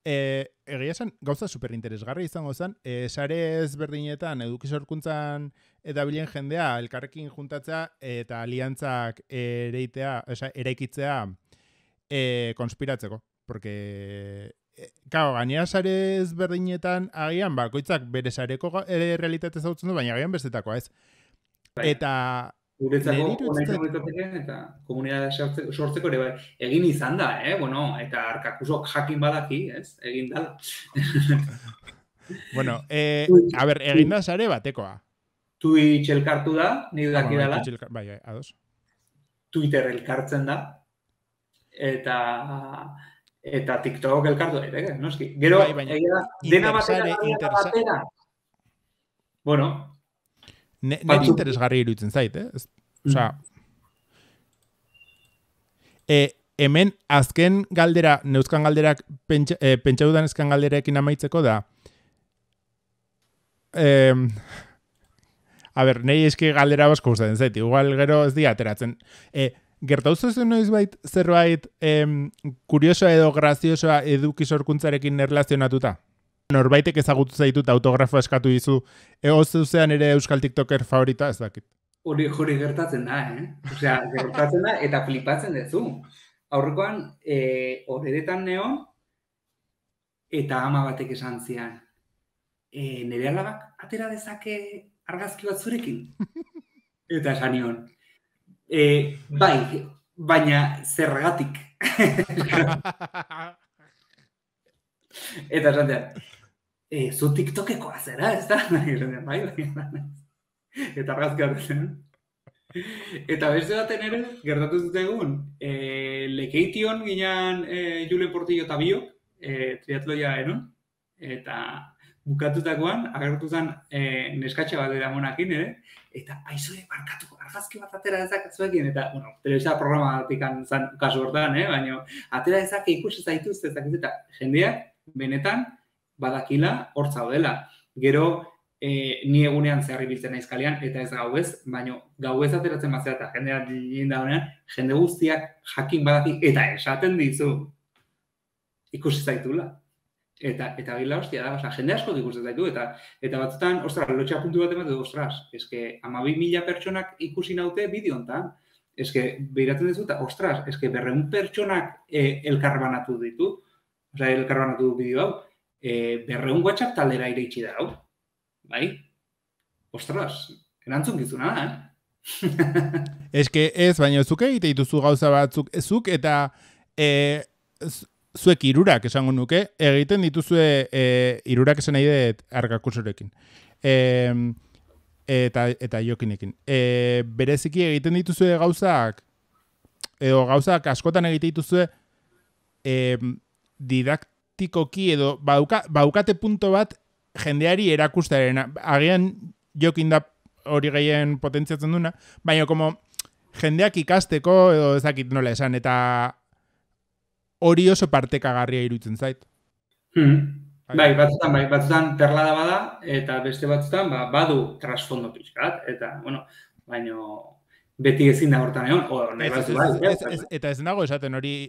Egia esan, gauza superinteresgarri izango zen, sare ezberdinetan eduki sorkuntzan edabilen jendea elkarrekin juntatzea eta aliantzak eraikitzea konspiratzeko. Porque, gainera sare ezberdinetan agian, bakoitzak bere sareko realitate zautzen du, baina agian bestetakoa ez. Eta guretzako honetzatik eta komunitatea sortzeko ere bai. Egin izan da, eta Arkakusok jakin badaki, ez? Egin dala. Egin da sare batekoa. Twitch elkartu da, nik daki dala. Bai, ados. Twitter elkartzen da. Eta TikTok elkartu da, noski. Gero, dena batera. Nire interesgarri iruditzen zait, Osea, hemen azken galdera, neuzkan galderak pentsa dudan ezkan galderekin amaitzeko da. Nire eski galdera basko gustatzen zait, igual gero ez di ateratzen. Gertauzu zen noiz zerbait kuriosoa edo graziosoa eduki sorkuntzarekin erlazionatuta? Norbaitek ezagutu zaitut autografo eskatu dizu, zuzean ere euskal tiktoker favorita, ez dakit. Hori gertatzen da, Osea, gertatzen da eta flipatzen dezu. Aurrekoan, horretan neon, eta ama batek esan zian, nire alabak atera dezake argazki bat zurekin? Eta esan nion, bai, baina zergatik. Eta esan zian, zu tiktokekoa zera, ez da? Bai, eta argazki bat zen. Eta beste baten ere, gertatu zuten Lekeition ginen Julen Portillo eta biok, triatloia eron, eta bukatutakoan, agertu zen neskatxa bat dira monakin ere, eta aizoe barkatuko, argazki bat atera ezakatzuekin, eta, bueno, telebista programatik zan kasu hortan, baina atera ezak ikusi zaituz, eta jendeak, benetan, badakila hor zaudela. Gero, ni egunean zehar ibiltzen naiz kalean, eta ez gauez, baina gauez ateratzen bazera eta jendeak egin da honean, jende guztiak jakin badaki, eta esaten dizu, ikusi zaitula. Eta gila hostia da, jende asko ikusi zaitu, eta batzutan, ostras, lotxa puntu bat ematen du, ostras, eske 12.000 pertsonak ikusi naute bideo hontan, eske behiratzen dizu, eta ostras, eske 200 pertsonak elkarbanatu ditu, elkarbanatu du bideo hau, 200 WhatsApp taldera ireitsi da hau. Bai? Ostras, erantzun gizuna da, Eske ez, baina zuk egite dituzu gauza batzuk, zuk eta zuek irurak esango nuke, egiten dituzue irurak esan nahi dut Arkakusorekin. Eta Jokinekin. Bereziki egiten dituzue gauzak, edo gauzak askotan egite dituzue didaktikoki edo baukate punto bat jendeari erakustaren. Agian Jokin da hori gehien potentziatzen duna, baina como jendeak ikasteko edo ezakit nola esan, eta hori oso partekagarria iruditzen zait. Bai, batzutan perlada bada, eta beste batzutan badu trasfondo pixkat, eta, bueno, baina beti ezin da hortan egon, nahi batzu bai. Eta ez nago esaten hori,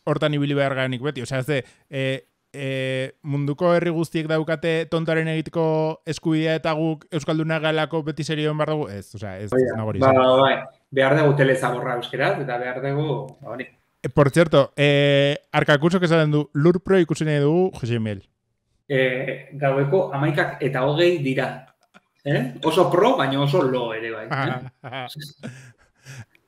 hortan ibili behar garenik beti, munduko herri guztiek daukate tontaren egiteko eskubidea eta guk Euskaldunak galako beti serioen behar dugu, ez nago hori. Bai, behar dugu telezaborra euskeraz, eta behar dugu, hori. Por cierto, Arkakusok esaten du, Lurpro ikusi nahi dugu, Jose Miguel. Gaueko 11:20 dira. Oso pro, baina oso lo ere bai.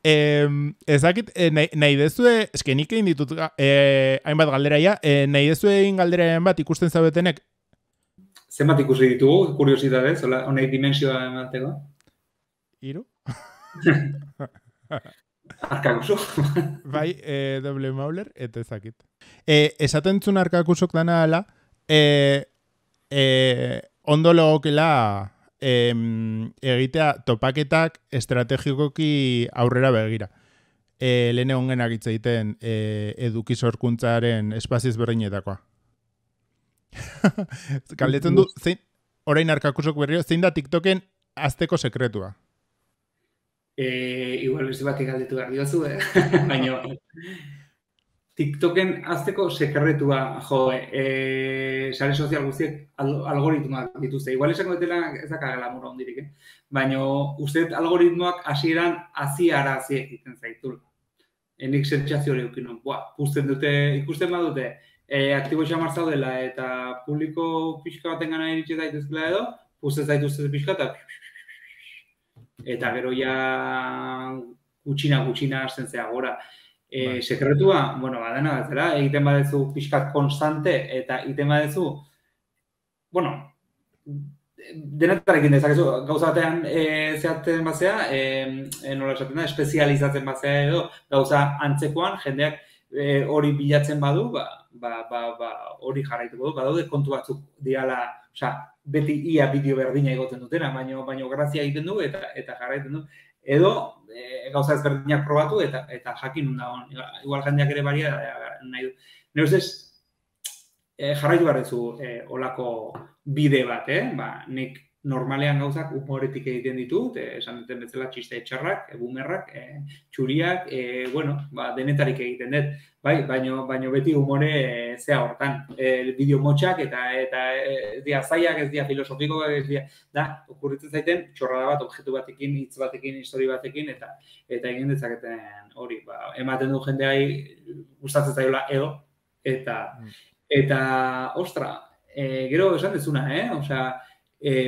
Ezakit, nahi dezue, eske nik egin ditut hainbat galderaia, nahi dezue egin galderaren bat ikusten zaudetenek? Zenbat ikusi ditugu, kuriositatez, honek dimensioa emateko? 3? Arkakuso. Bai, doble mauler, eta ezakit. Esaten zuen Arkakusok dana ala, ondo logokela egitea topaketak estrategikoki aurrera begira. Lehen egon genak hitz egiten eduki sorkuntzaren espazio ezberdinetakoa. Galdetzen du, orain Arkakusok berrio, zein da TikToken azteko sekretua? Igual beste batik galdetu behar diozu, baina TikToken azteko sekretua, sare sozial guztiek algoritmoak dituzte. Igual esango detela ez dakagela mura hondirik, baina uste algoritmoak hasieran hazi egiten zaitula. Enik sentsazio hori eukin nuen, ikusten badute, aktibo xamar zaudela eta publiko pixka baten gana iritsi daitezkela edo, puzten zaituzte pixka eta gero ja gutxina hasten zea gora. Sekretua, bueno, badena batzera, egiten badezu pixkat konstante eta egiten badezu, bueno, denetarekin dezakezu, gauza batean zehatzen batzea, nola esaten da, espezializatzen batzea edo, gauza antzekoan, jendeak hori bilatzen badu, hori jarraituko du, badaude kontu batzuk diala, beti ia bideo berdina egoten dutena, baina grazia egiten du eta jarraiten du. Edo, gauza ezberdinak probatu eta jakin nun dagoen. Igual jendeak ere baria nahi du. Nire ustez, jarraitu behar duzu olako bide bat, nik normalean gauzak humoretik egiten ditut, esan duten bezala txiste txarrak, bumerrak, txuriak, denetarik egiten dut. Baina beti humore zea hortan. Bideo motxak eta ez dira zaiak, ez dira filosofikoak, ez dira, okurritzen zaiten txorrada bat, objektu batekin, hitz batekin, histori batekin, eta egin dezaketen hori, ematen du jendeai gustatzen zaiola edo, eta ostra, gero esan dezuna,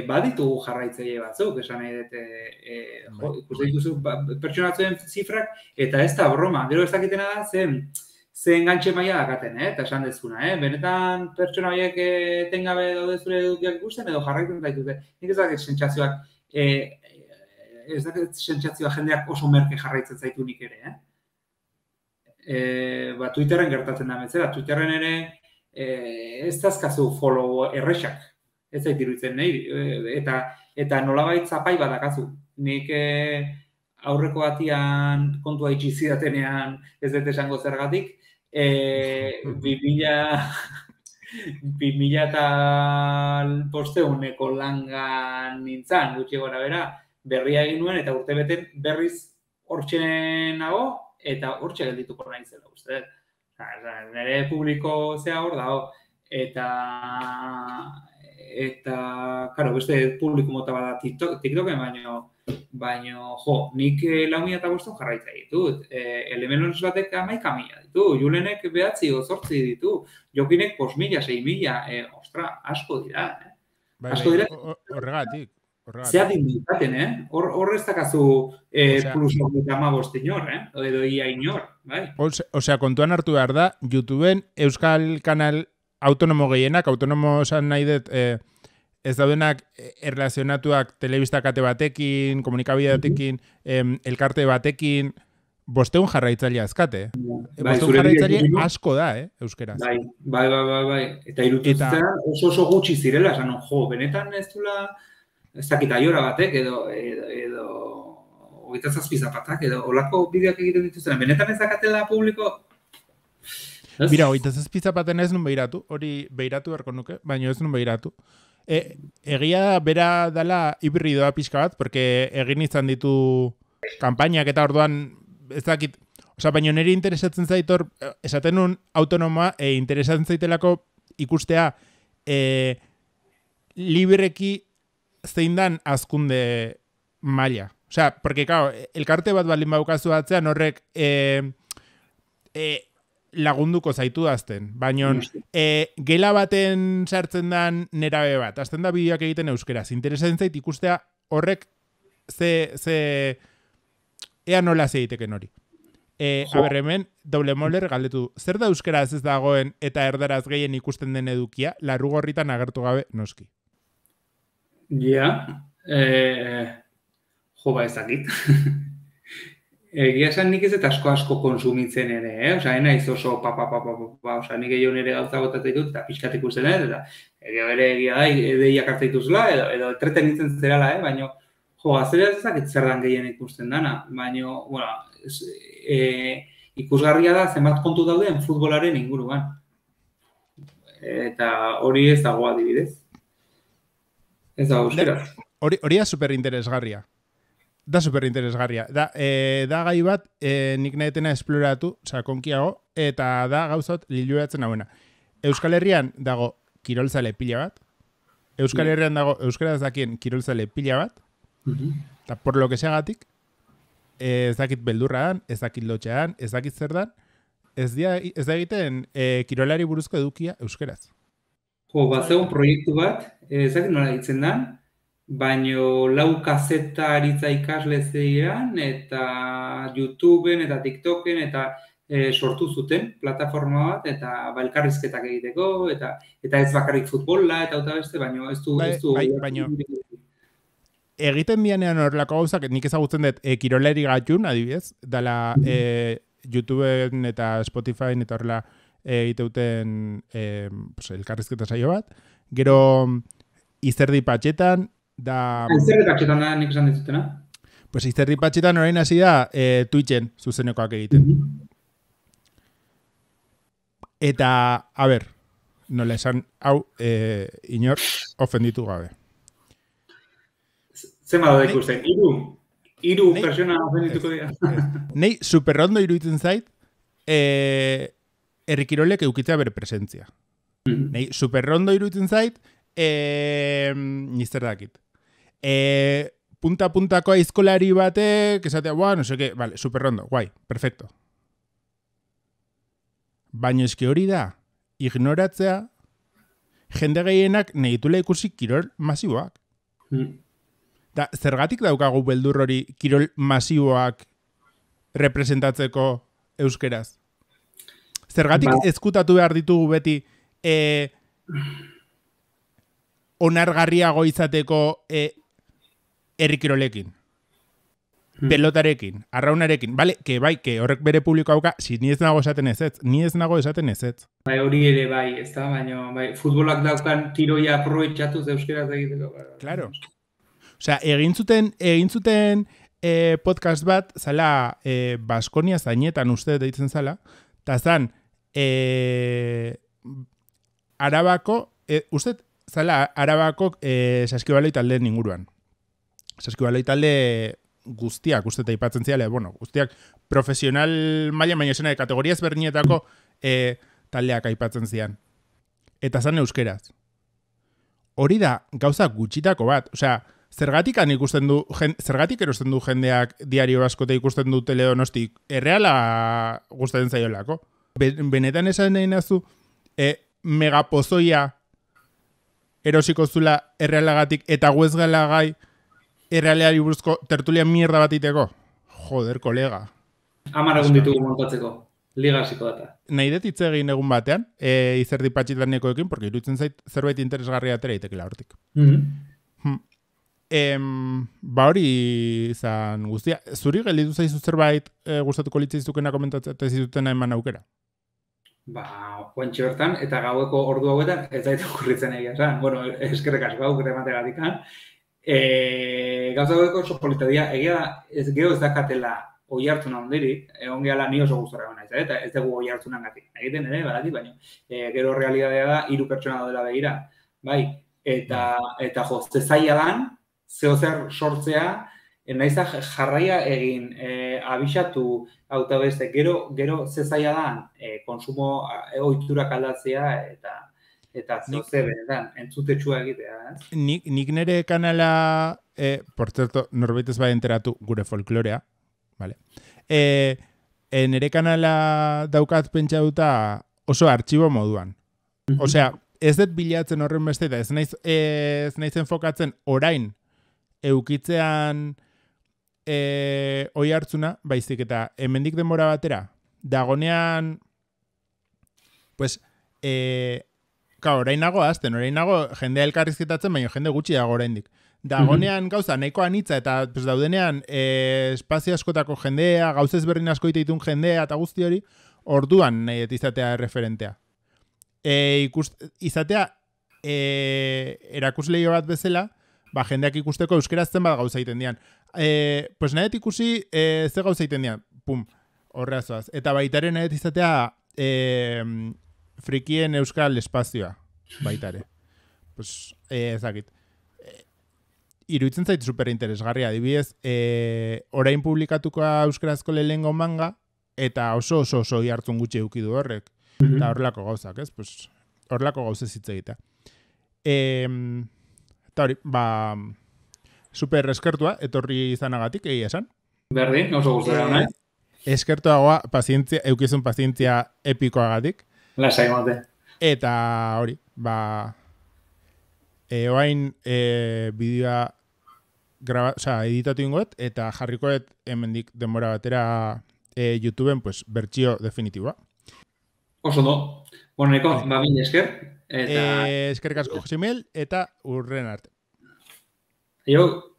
baditu jarraitzaile batzuk, esan nahi dut, ikusten dituzu pertsonatzen zifrak, eta ez da broma, gero ez dakitena da, ze engantxe maila dakaten, eta esan dezuna, benetan pertsona horiek etengabe daude zure edukiak ikusten, edo jarraitzen daitute. Nik ez dakit sentsazioak ez dakit sentsazioa jendeak oso merke jarraitzen zaitu nik ere, Twitterren gertatzen da bezala, Twitterren ere ez dazkazu follow errexak, ez zait iruditzen nahi, eta nolabait zapai badakazu. Nik aurreko batian kontua itxi zidatenean ez dut esango zergatik, 2000 langan nintzan, gutxi gora bera, berria egin nuen, eta urte beten berriz hortxe nago, eta hortxe geldituko nahi zela, uste. Nire publiko zea hor dago, eta, karo, beste publiko mota bada TikToken, baino, nik 4.500 jarraitza ditut. Elemenons batek 11.000 ditu, Julenek 9 o 8 ditu, Jokinek 5.000, 6.000, ostra, asko dira, Asko dira. Horregatik. Zea dindikaten, Hor ez dakazu plus 15 inor, edo ia inor, bai? Osea, kontuan hartu behar da, YouTubeen euskal kanal autonomo gehienak, autonomo esan nahi dut, ez daudenak erlazionatuak telebista kate batekin, komunikabide batekin, elkarte batekin, 500 jarraitzaile azkate. 500 jarraitzaile asko da, euskeraz. Bai. Eta irututzen oso gutxi zirela, esan, benetan ez dula, ez dakit aiora batek, edo 27 zapatak, edo olako bideoak egiten dituzten. Benetan ez dakatela publiko? Mira, 27 zapaten ez nun behiratu, hori behiratu berko nuke, baina ez nun behiratu. Egia bera dela hibridoa pixka bat, porque egin izan ditu kanpainak eta orduan ez dakit, baina niri interesatzen zaitor, esaten nun autonomoa, interesatzen zaitelako ikustea libreki zein dan azkunde maila. Porque, claro, elkarte bat balin baukazu atzean horrek lagunduko zaitu dazten. Baina, gela baten sartzen dan nerabe bat, azten da bideoak egiten euskeraz. Interesatzen zait ikustea horrek ea nola zeiteken hori. Hemen, Double Moller galdetu, zer da euskeraz ez dagoen eta erdaraz gehien ikusten den edukia, larrugorritan agertu gabe noski? Ja, ezakit. Egia esan nik ez eta asko konsumitzen ere, naiz oso nik gehiago nire gauza botatzen dut, eta pixkat ikusten eta egia da, edeiak hartzaituzla, edo entretenitzen zerala, baina azalea ezakit zer dan gehien ikusten dana, baina, ikusgarria da zenbat kontu dauden futbolaren inguruan. Eta hori ez dago adibidez. Ez dago euskeraz. Hori da superinteresgarria. Da superinteresgarria. Da gai bat, nik nahetena esploratu, sakonkiago, eta da gauzot liluratzen hauena. Euskal Herrian dago kirolzale pila bat, Euskal Herrian dago euskaraz dakien kirolzale pila bat, eta por lo que seagatik, ez dakit beldurra dan, ez dakit lotxean, ez dakit zer dan, ez da egiten kirolari buruzko edukia euskaraz. Bazegon proiektu bat, ez dakit nola ditzen dan, baino 4 kazeta aritza ikasle zeiran, eta YouTubeen eta TikToken, eta sortu zuten plataforma bat, eta elkarrizketak egiteko, eta ez bakarrik futbola, eta beste, baino ez du... Baino, egiten dianean horrelako gauzak, nik ezagutzen dut kiroleri gatxun, adibidez, dala YouTubeen eta Spotifyen eta horrela egiteuten elkarrizketa saio bat, gero Izerdi Patxetan, Izerdi Patxetan da nik esan dizutena? Izerdi Patxetan orain hasi da Twitchen zuzenekoak egiten. Eta, a ber, nola esan, hau, inor ofenditu gabe. Zema da ikusten, hiru persona ofendituko dira. Nei superrondo iruditzen zait, herrikirolek eukitzea bere presentzia. Nei superrondo iruditzen zait, nizter dakit. Punta-puntako aizkolari batek, esatea, no seke, vale, superrondo, guai, perfecto. Baina eski hori da, ignoratzea, jende gehienak negitula ikusi kirol masiboak. Da, zergatik daukagu beldur hori kirol masiboak representatzeko euskeraz? Zergatik ezkutatu behar ditugu beti onargarriago izateko herrikirolekin? pelotarekin, arraunarekin, bale, que horrek bere publiko hauka, ni ez nago esaten ez ez. Bai, hori ere bai, ez da, baina bai, futbolak daukan tiroia aprobetxatuz euskeraz egiteko. Claro. Osea, egin zuten podcast bat, zala Baskonia zainetan uste deitzen zala, eta zan, Arabako, uste, zala, Arabako saskibaloi taldeen inguruan. Saskibaloi talde guztiak, uste eta ipatzen ziala, guztiak profesional maila, baina esena de kategoria ezberdinetako taldeak aipatzen zian. Eta zan euskeraz. Hori da, gauza gutxitako bat. Osea, zergatik erosten du jendeak diario askote ikusten du Teledonosti, erreala gustatzen zaiolako. Benetan esan nahi nazu, megapozoia erosiko zula errealagatik eta guezgala gai errealeari buruzko tertulia mierda bat iteko. Joder, kolega. 10 egun ditugu montatzeko. Liga hasiko data. Nahi dut hitz egin egun batean, izerdi patxitanekoekin, porque iruditzen zait zerbait interesgarria atera itekela hortik. Hori izan guztia. Zuri gelditu zaizu zerbait gustatuko litzaizukena komentatzen zizutena eman aukera? Oantxe bertan, eta gaueko ordu hauetan, ez zaitu okurritzen egia esan. Bueno, eskerrek asko aukera emategatik. Gauza gaueko oso politadia, egia ez gero ez dakatela oi hartzuna ondirik, egon gehala ni oso guztora gana, eta ez dugu oi hartzunan gatik. Egiten ere, badati, baina gero realidadea da, 3 pertsona daudela begira. Bai, eta jo, zezaila dan, zehozer sortzea, nahiza jarraia egin, abixatu auta beste, gero zezaila dan, konsumo ohiturak aldatzea, eta zehozer benetan, entzutetsua egitea. Nik nire kanala, por cierto, norbait ez bai enteratu gure folklorea, vale. Nire kanala daukat pentsatuta oso artxibo moduan. Osea, ez dut bilatzen horren beste, eta ez naiz enfokatzen orain eukitzean oi hartzuna, baizik eta hemendik denbora batera, dagonean, pues, orain nago jendea elkarrizketatzen, baina jende gutxi dago oraindik. Dagonean gauza nahiko anitza eta daudenean espazio askotako jendea, gauza ezberdin asko ditun jendea eta guzti hori, orduan nahi izatea referentea. Izatea erakusleio bat bezala, jendeak ikusteko euskeraz zenbat gauza egiten dian. Pues nahi ikusi ze gauza egiten dian, pum, horreazoaz. Eta baitaren nahi izatea frikien euskal espazioa, baitare. Pues, ezakit. Iruditzen zait superinteresgarria, adibidez, orain publikatukoa euskarazko lehengo manga, eta oso hartzun gutxi eukidu horrek. Eta horrelako gauzak, ez? Pues, horrelako gauzez hitz egitea. Eta hori, super eskertua, etorri izanagatik, egia esan. Berdin, oso guztara, nahi? Eskertuagoa, eukizun pazientzia epikoagatik. Lasai mate. Eta hori, oain bideoa editatu ingoet, eta jarrikoet hemendik denbora batera YouTubeen pues, bertsio definitiboa. Oso do. Boneko, mil esker. Eskerrik asko, Josimel, eta urren arte. Jo.